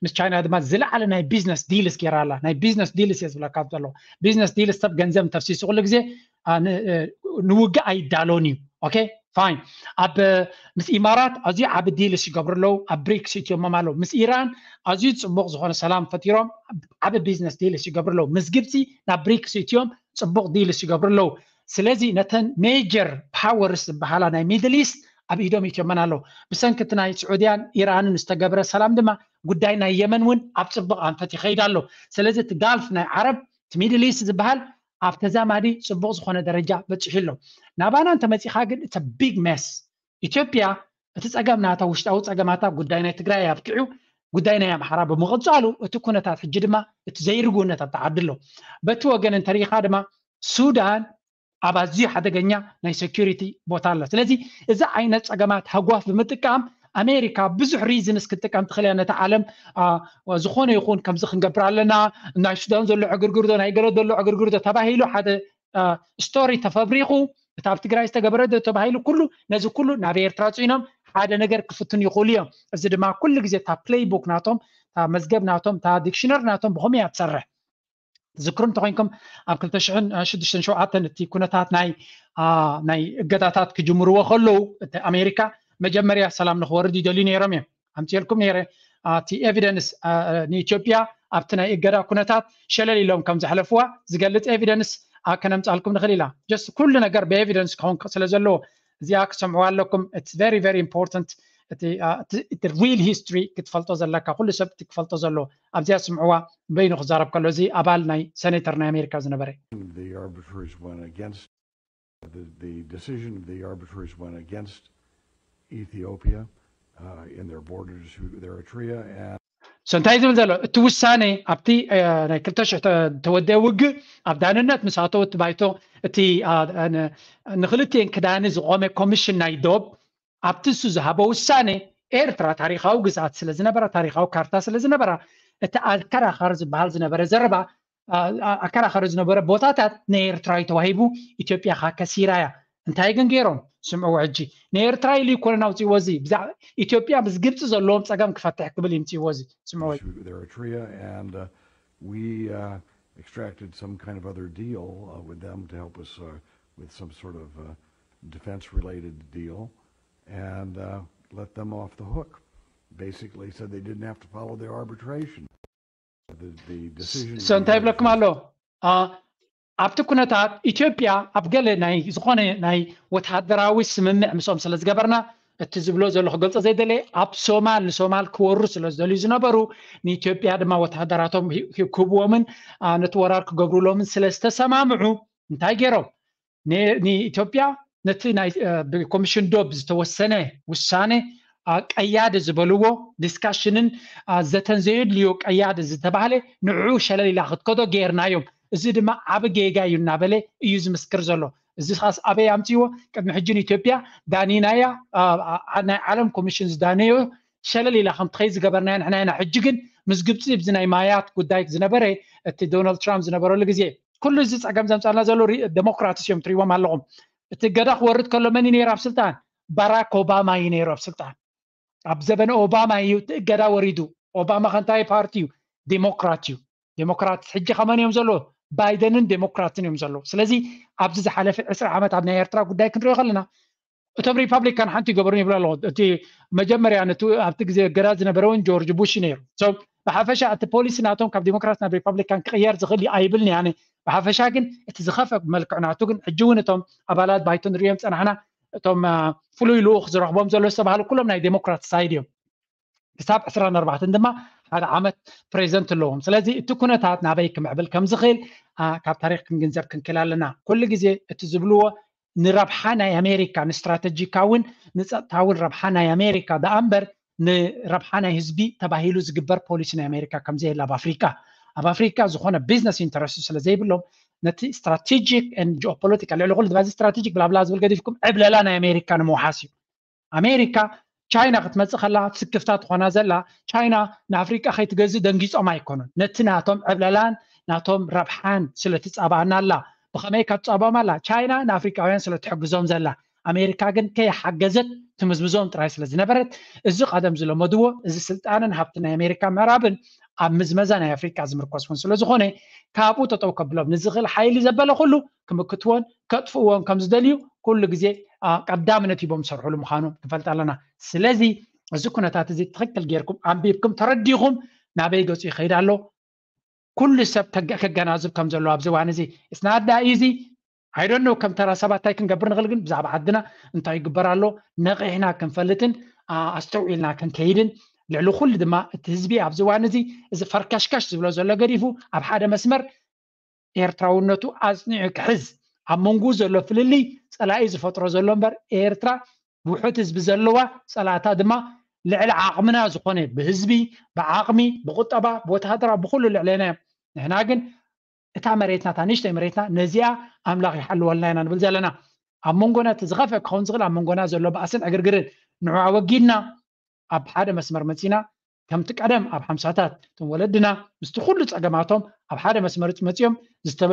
ምስ ቻይና ድማ ዝለዓለ ናይ ቢዝነስ ዲልስ ገይራ ኣላ። ናይ ቢዝነስ ዲልስ እየ ዝብለካ ዘሎ። ቢዝነስ ዲልስ ሰብ ገንዘብ እንተፍሲሱ ኩሉ ግዜ ንውግእ ኣይዳሎን እዩ። ኦኬ ፋይን። ኣብ ምስ ኢማራት ኣዝዩ ዓቢ ዲልስ ይገብሩ ኣለዉ። ኣብ ብሪክስ እትዮሞም ኣለዉ። ምስ ኢራን ኣዝዩ ጽቡቕ ዝኾነ ሰላም ፈጢሮም ዓቢ ቢዝነስ ዲልስ ይገብሩ ኣለዉ። ምስ ግብጺ ናብ ብሪክስ እትዮም ጽቡቕ ዲልስ ይገብሩ ኣለዉ። ስለዚ ነተን ሜጀር ፓወርስ ዝበሃላ ናይ ሚድል ኢስት ኣብ ኢዶም እትዮመን ኣለዉ። ብሰንኪ እቲ ናይ ስዑድያን ኢራንን ዝተገብረ ሰላም ድማ ጉዳይ ናይ የመን እውን ኣብ ጽቡቕ ኣንፈት ይኸይድ ኣሎ። ስለዚ እቲ ጋልፍ ናይ ዓረብ እቲ ሚድል ኢስት ዝበሃል ኣብ ተዛማዲ ጽቡቕ ዝኾነ ደረጃ በጺሑ ኣሎ። ናባና እንተመጺኻ ግን it's a big mess። ኢትዮጵያ እቲ ጸገም ናታ ውሽጣዊ ጸገማታ ጉዳይ ናይ ትግራይ ኣብቂዑ ጉዳይ ናይ ኣምሓራ ብምቕጻሉ እቲ ኩነታት ሕጂ ድማ እቲ ዘይርጉእነት ኣብቲ ዓዲ ኣሎ። በቲ ወገን እንተሪኢኻ ድማ ሱዳን ኣብ ኣዝዩ ሓደገኛ ናይ ሴኩሪቲ ቦታ ኣላ። ስለዚ እዚ ዓይነት ጸገማት ሃጓፍ ብምጥቃም ኣሜሪካ ብዙሕ ሪዝንስ ክትጥቀም ትኽእል እያ። ነቲ ዓለም ዝኾነ ይኹን ከምዚ ክንገብር ኣለና፣ ናይ ሱዳን ዘሎ ዕግርግር ዶ ናይ ገለ ዘሎ ዕግርግር ዶ ተባሂሉ ሓደ ስቶሪ ተፈብሪኹ፣ እቲ ኣብ ትግራይ ዝተገበረ ዶ ተባሂሉ ኩሉ ነዚ ኩሉ ናብ ኤርትራ ጽዒኖም ሓደ ነገር ክፍትኑ ይኽእሉ እዮም። እዚ ድማ ኩሉ ግዜ እታ ፕሌይ ቡክ ናቶም፣ እታ መዝገብ ናቶም፣ እታ ዲክሽነሪ ናቶም ብኸመይ እያ ትሰርሕ? ትዝክሩ እንተኮይንኩም ኣብ ክልተ ሽሕን ሽዱሽተን ሸውዓተን እቲ ኩነታት ናይ ናይ እገዳታት ክጅምርዎ ከለዉ እቲ ኣሜሪካ መጀመርያ ሰላም ንክወርድ ይደልዩ ነይሮም እዮም። ኣምፅኤልኩም ነይረ እቲ ኤቪደንስ ንኢትዮጵያ ኣብቲ ናይ እገዳ ኩነታት ሸለል ኢሎም ከም ዘሕለፍዋ ዝገልፅ ኤቪደንስ ከነምፃልኩም ንኽእል ኢና። ጀስት ኩሉ ነገር ብኤቪደንስ ክኸውን ስለ ዘለዎ እዚኣ ክሰምዕዋ ኣለኩም። It's very very important። እቲ ሪል ሂስትሪ ክትፈልጦ ዘለካ ኩሉ ሰብ እቲ ክፈልጦ ዘለዎ ኣብዚኣ ስምዕዋ። በይኑ ክዛረብ ከሎ እዚ ኣባል ናይ ሴኔተር ናይ ኣሜሪካ ዝነበረ the arbitrators went against the, the decision of the arbitrators went against Ethiopia uh, in their borders with Eritrea and so እንታይ ዝብል ዘሎ እቲ ውሳኔ ኣብቲ ናይ ክልተ ሽሕ ተወደአ ውግእ ኣብ ዳንነት ምስ ኣተወ እቲ ባይቶ እቲ ንክልቲኤን ክዳኒ ዝቆመ ኮሚሽን ናይ ዶብ ኣብቲ እሱ ዝሃቦ ውሳኔ ኤርትራ ታሪኻዊ ግዝኣት ስለ ዝነበራ ታሪኻዊ ካርታ ስለ ዝነበራ እቲ ኣከራኻሪ ዝበሃል ዝነበረ ዘረባ ኣከራኻሪ ዝነበረ ቦታታት ናይ ኤርትራ እዩ ተዋሂቡ። ኢትዮጵያ ካ ከሲራ እያ። እንታይ ግን ገይሮም ስምዕዎ ሕጂ ንኤርትራ ኢሉ ይኮነን ኣውፅእዎ እዚ ኢትዮጵያ ምስ ግብፂ ዘለዎም ፀገም ክፈትሕ ክብል ይምፅእዎ እዚ ስምዕዎ Eritrea and uh, we uh, extracted some kind of other deal uh, with them to help us uh, with some sort of uh, defense related deal and uh, let them off the hook. Basically said they didn't have to follow the arbitration. So እንታይ ይብለኩም ኣሎ ኣብቲ ኩነታት ኢትዮጵያ ኣብ ገለ ናይ ዝኾነ ናይ ወተሃደራዊ ስምምዕ ምስኦም ስለ ዝገበርና እቲ ዝብሎ ዘሎ ክገልፆ ዘይደለ ኣብ ሶማል ንሶማል ክወሩ ስለ ዝደልዩ ዝነበሩ ንኢትዮጵያ ድማ ወተሃደራቶም ክህብዎምን ነቲ ወራር ክገብሩሎምን ስለ ዝተሰማምዑ እንታይ ገይሮም ንኢትዮጵያ ነቲ ናይ ኮሚሽን ዶብ ዝተወሰነ ውሳነ ቀያዲ ዝበልዎ ዲስካሽንን ዘተን ዘየድልዮ ቀያዲ ዝተባህለ ንዕኡ ሸለል ኢላ ክትከዶ ገይርናዮም። እዚ ድማ ዓቢ ጌጋ እዩ እናበለ እዩ ዝምስክር ዘሎ። እዚ ኻስ ኣበይ ኣምፅዎ? ቅድሚ ሕጂ ንኢትዮጵያ ዳኒናያ ናይ ዓለም ኮሚሽን ዝዳነዮ ሸለል ኢላ ከም ትኸይ ዝገበርናያ ንሕና ኢና። ሕጂ ግን ምስ ግብፂ ብዚ ናይ ማያት ጉዳይ ዝነበረ እቲ ዶናልድ ትራምፕ ዝነበረሉ ግዜ ኩሉ እዚ ፀገም ዘምፃልና ዘሎ ዴሞክራትስ እዮም ትሪዎም ኣለኹም። እቲ እገዳ ክወርድ ከሎ መን እዩ ነይሩ ኣብ ስልጣን? ባራክ ኦባማ እዩ ነይሩ ኣብ ስልጣን። ኣብ ዘበነ ኦባማ እዩ እቲ እገዳ ወሪዱ። ኦባማ ከንታይ ፓርቲ እዩ? ዴሞክራት እዩ። ዴሞክራት ሕጂ ከመን እዮም ዘለዎ? ባይደንን ዴሞክራትን እዮም ዘለዎ። ስለዚ ኣብዚ ዝሓለፈ ዕስራ ዓመት ኣብ ናይ ኤርትራ ጉዳይ ክንሪኦ ከለና እቶም ሪፓብሊካን ሓንቲ ይገብሩን ይብሉ ኣለዎ። እቲ መጀመርያ ነቲ ኣብቲ ግዜ እገዳ ዝነበረ እውን ጆርጅ ቡሽ ነይሩ። ብሓፈሻ እቲ ፖሊሲ ናቶም ካብ ዴሞክራት ናብ ሪፓብሊካን ክቕየር ዝኽእል ኣይብልን ኣነ። ብሓፈሻ ግን እቲ ዝኸፈ መልክዕ ናቱ ግን ሕጂ እውን እቶም ኣባላት ባይቶ ንሪኦም ዝፀናሕና እቶም ፍሉይ ልኡኽ ዝረኽቦም ዘሎ ዝተባሃሉ ኩሎም ናይ ዴሞክራት ሳይድ እዮም። ክሳብ ዕስራን ኣርባዕተን ድማ ሓደ ዓመት ፕሬዚደንት ኣለዎም። ስለዚ እቲ ኩነታት ናበይ ክምዕብል ከም ዝኽእል ካብ ታሪክ ክንግንዘብ ክንክእል ኣለና። ኩሉ ግዜ እቲ ዝብልዎ ንረብሓ ናይ ኣሜሪካ፣ ንስትራተጂካውን ንፀጥታውን ረብሓ ናይ ኣሜሪካ ደኣ እምበር ንረብሓ ናይ ህዝቢ ተባሂሉ ዝግበር ፖሊሲ ናይ ኣሜሪካ ከምዘየለ ኣብ ኣፍሪካ ኣብ ኣፍሪካ ዝኾነ ቢዝነስ ኢንተረስት ስለ ዘይብሎም ነቲ ስትራቴጂክ ን ጂኦፖለቲካ ልዕሊ ኩሉ ድማ ስትራቴጂክ ብላብላ ዝብል ገዲፍኩም ዕብለላ ናይ ኣሜሪካ ንምውሓስ እዩ። ኣሜሪካ ቻይና ክትመፅእ ከላ ስክፍታ ትኾና ዘላ ቻይና ንኣፍሪቃ ከይትገዝእ ደንጊፆም ኣይኮኑን። ነቲ ናቶም ዕብለላን ናቶም ረብሓን ስለ ትፃባኣና ኣላ። ብኸመይ ካብ ትፃባኦም ኣላ? ቻይና ንኣፍሪቃውያን ስለ ትሕግዞም ዘላ። ኣሜሪካ ግን ከይሓገዘት ትምዝምዞም ጥራይ ስለ ዝነበረት እዚ ቀደም ዝለመድዎ እዚ ስልጣንን ሃብቲ ናይ ኣሜሪካ ምዕራብን ኣብ ምዝመዛ ናይ ኣፍሪቃ ዝምርኮስ እውን ስለ ዝኾነ ካብኡ ተጠው ከብሎም ንዝኽእል ሓይሊ ዘበለ ኩሉ ክምክትዎን ከጥፍእዎን ከም ዝደልዩ ኩሉ ግዜ ቀዳምነት ሂቦም ዝሰርሕሉ ምዃኑ ክንፈልጥ ኣለና። ስለዚ እዚ ኩነታት እዚ ትኽክል ጌርኩም ኣንቢብኩም ተረዲኹም ናበይ ገፁ ይኸይድ ኣሎ ኩሉ ሰብ ከገናዝብ ከም ዘለዎ ኣብዚ እዋን እዚ ስናዳ እዚ ኣይደኖ ከም ተራ ሰባት እንታይ ክንገብር ንኽእል ግን ብዛዕባ ዓድና እንታይ ይግበር ኣሎ ነቒሕና ክንፈልጥን ኣስተውዒልና ክንከይድን ልዕሊ ኩሉ ድማ እቲ ህዝቢ ኣብዚ እዋን እዚ እዚ ፈርከሽከሽ ዝብሎ ዘሎ ገዲፉ ኣብ ሓደ መስመር ኤርትራውነቱ ኣጽኒዑ ክሕዝ ኣብ መንጎ ዘሎ ፍልልይ ጸላኢ ዝፈጥሮ ዘሎ እምበር ኤርትራ ውሑድ ህዝቢ ዘለዋ ጸላእታ ድማ ልዕሊ ዓቕምና ዝኾነ ብህዝቢ ብዓቕሚ ብቁጠባ ብወተሃደራ ብኩሉ ልዕለና እዮም። ንሕና ግን እታ መሬትና እታ ንእሽተይ መሬትና ነዚኣ ኣምላኽ ይሓልወልና ኢና ንብል ዘለና። ኣብ መንጎና እቲ ዝኸፍአ ክኸውን ዝኽእል ኣብ መንጎና ዘሎ ባእስን ዕግርግርን ንዑ ኣወጊድና ኣብ ሓደ መስመር መፂና ከምቲ ቀደም ኣብ ሓምሳታት እቶም ወለድና ምስቲ ኩሉ ፀገማቶም ኣብ ሓደ መስመር መፂኦም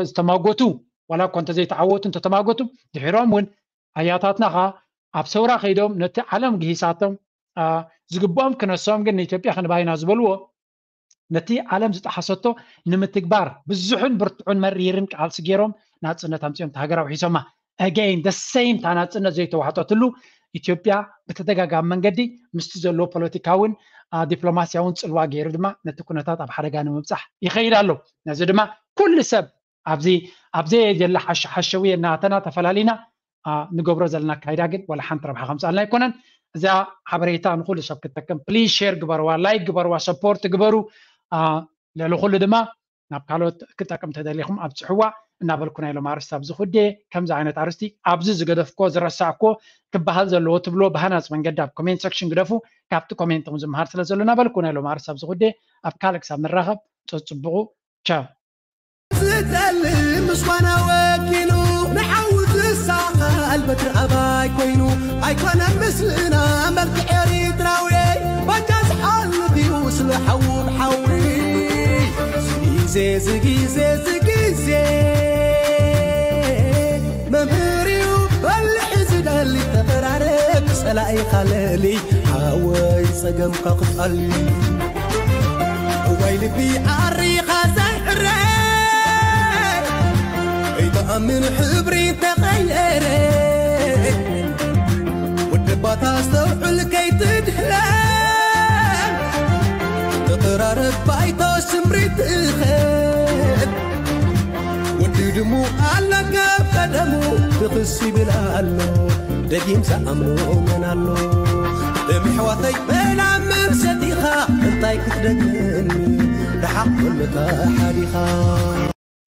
ዝተማጎቱ ዋላ እኳ እንተዘይተዓወቱ እንተተማጎቱ ድሒሮም እውን ኣያታትና ኸዓ ኣብ ሰውራ ከይዶም ነቲ ዓለም ግሂሳቶም ዝግብኦም ክነሶም ግን ንኢትዮጵያ ክንባይና ዝበልዎ ነቲ ዓለም ዝጠሓሰቶ ንምትግባር ብዙሕን ብርቱዕን መሪርን ቃልሲ ገይሮም ናፅነት ኣምፂኦም ሃገር ኣውሒሶማ። Again the same እታ ናፅነት ዘይተዋሕጠትሉ ኢትዮጵያ ብተደጋጋሚ መንገዲ ምስቲ ዘለዎ ፖለቲካውን ዲፕሎማሲያውን ፅልዋ ገይሩ ድማ ነቲ ኩነታት ኣብ ሓደጋ ንምብፃሕ ይኸይድ ኣሎ። ነዚ ድማ ኩሉ ሰብ ኣብዚ ኣብዘየለ ሓሸውየ እናተና ተፈላሊና ንገብሮ ዘለና ኣካይዳ ግን ዋላ ሓንቲ ረብሓ ከምፅኣልና ኣይኮነን። እዛ ሓበሬታ ንኩሉ ሰብ ክትጠቅም ፕሊዝ ሼር ግበርዋ፣ ላይክ ግበርዋ፣ ሰፖርት ግበሩ። ልዕሊ ኩሉ ድማ ናብ ካልኦት ክጠቅም ተደሊኹም ኣብፅሕዋ እናበልኩ ናይ ሎም ኣርስቲ ኣብዚ ኩዴ ከምዚ ዓይነት ኣርስቲ ኣብዚ ዝገደፍኮ ዝረሳዕኮ ክበሃል ዘለዎ ትብሎ ብሃናፅ መንገዲ ኣብ ኮሜንት ሰክሽን ግደፉ። ካብቲ ኮሜንት ዝምሃር ስለ ዘሎ እናበልኩ ናይ ሎም ኣርስቲ ኣብዚ ኩዴ ኣብ ካልእ ክሳብ ንራኸብ ፀፅብቑ ቻው። ዝጠልም ምስኳና ወኪሉ ንሓዊ ዝሳቐል በትሪ ኣባይ ኮይኑ ኣይኮነን ምስልና መልክዕ ኤሪትራዊ ባጃ ዝሓልፍ እዩ ስለ ሓዊ ብሓዊ ዝጊዜ ዝጊዜ ዝጊዜ መምህር እዩ በልሒ ዝደሊ ተቐራረብ ጸላኢኻ ለሊ ሓወይ ጸገምካ ክፋል እዋይ ልቢ ዓሪኻ ዘይዕረ ኣይተኣምን ሕብሪ ተቐየረ ወደባታ ኣስተውዕል ከይትድህለ ተቐራረብ ባይቶ ስምሪት እኸ ወዲ ድሙ ኣለካ ቀደሙ ብኽስ ይብል ኣሎ ደጊም ዝኣምኖ መን ኣሎ ደም ኣሕዋተይ መላ መምሰጢኻ እንታይ ክትደግመኒ ረሓቕ ዘለካ ሓዲኻ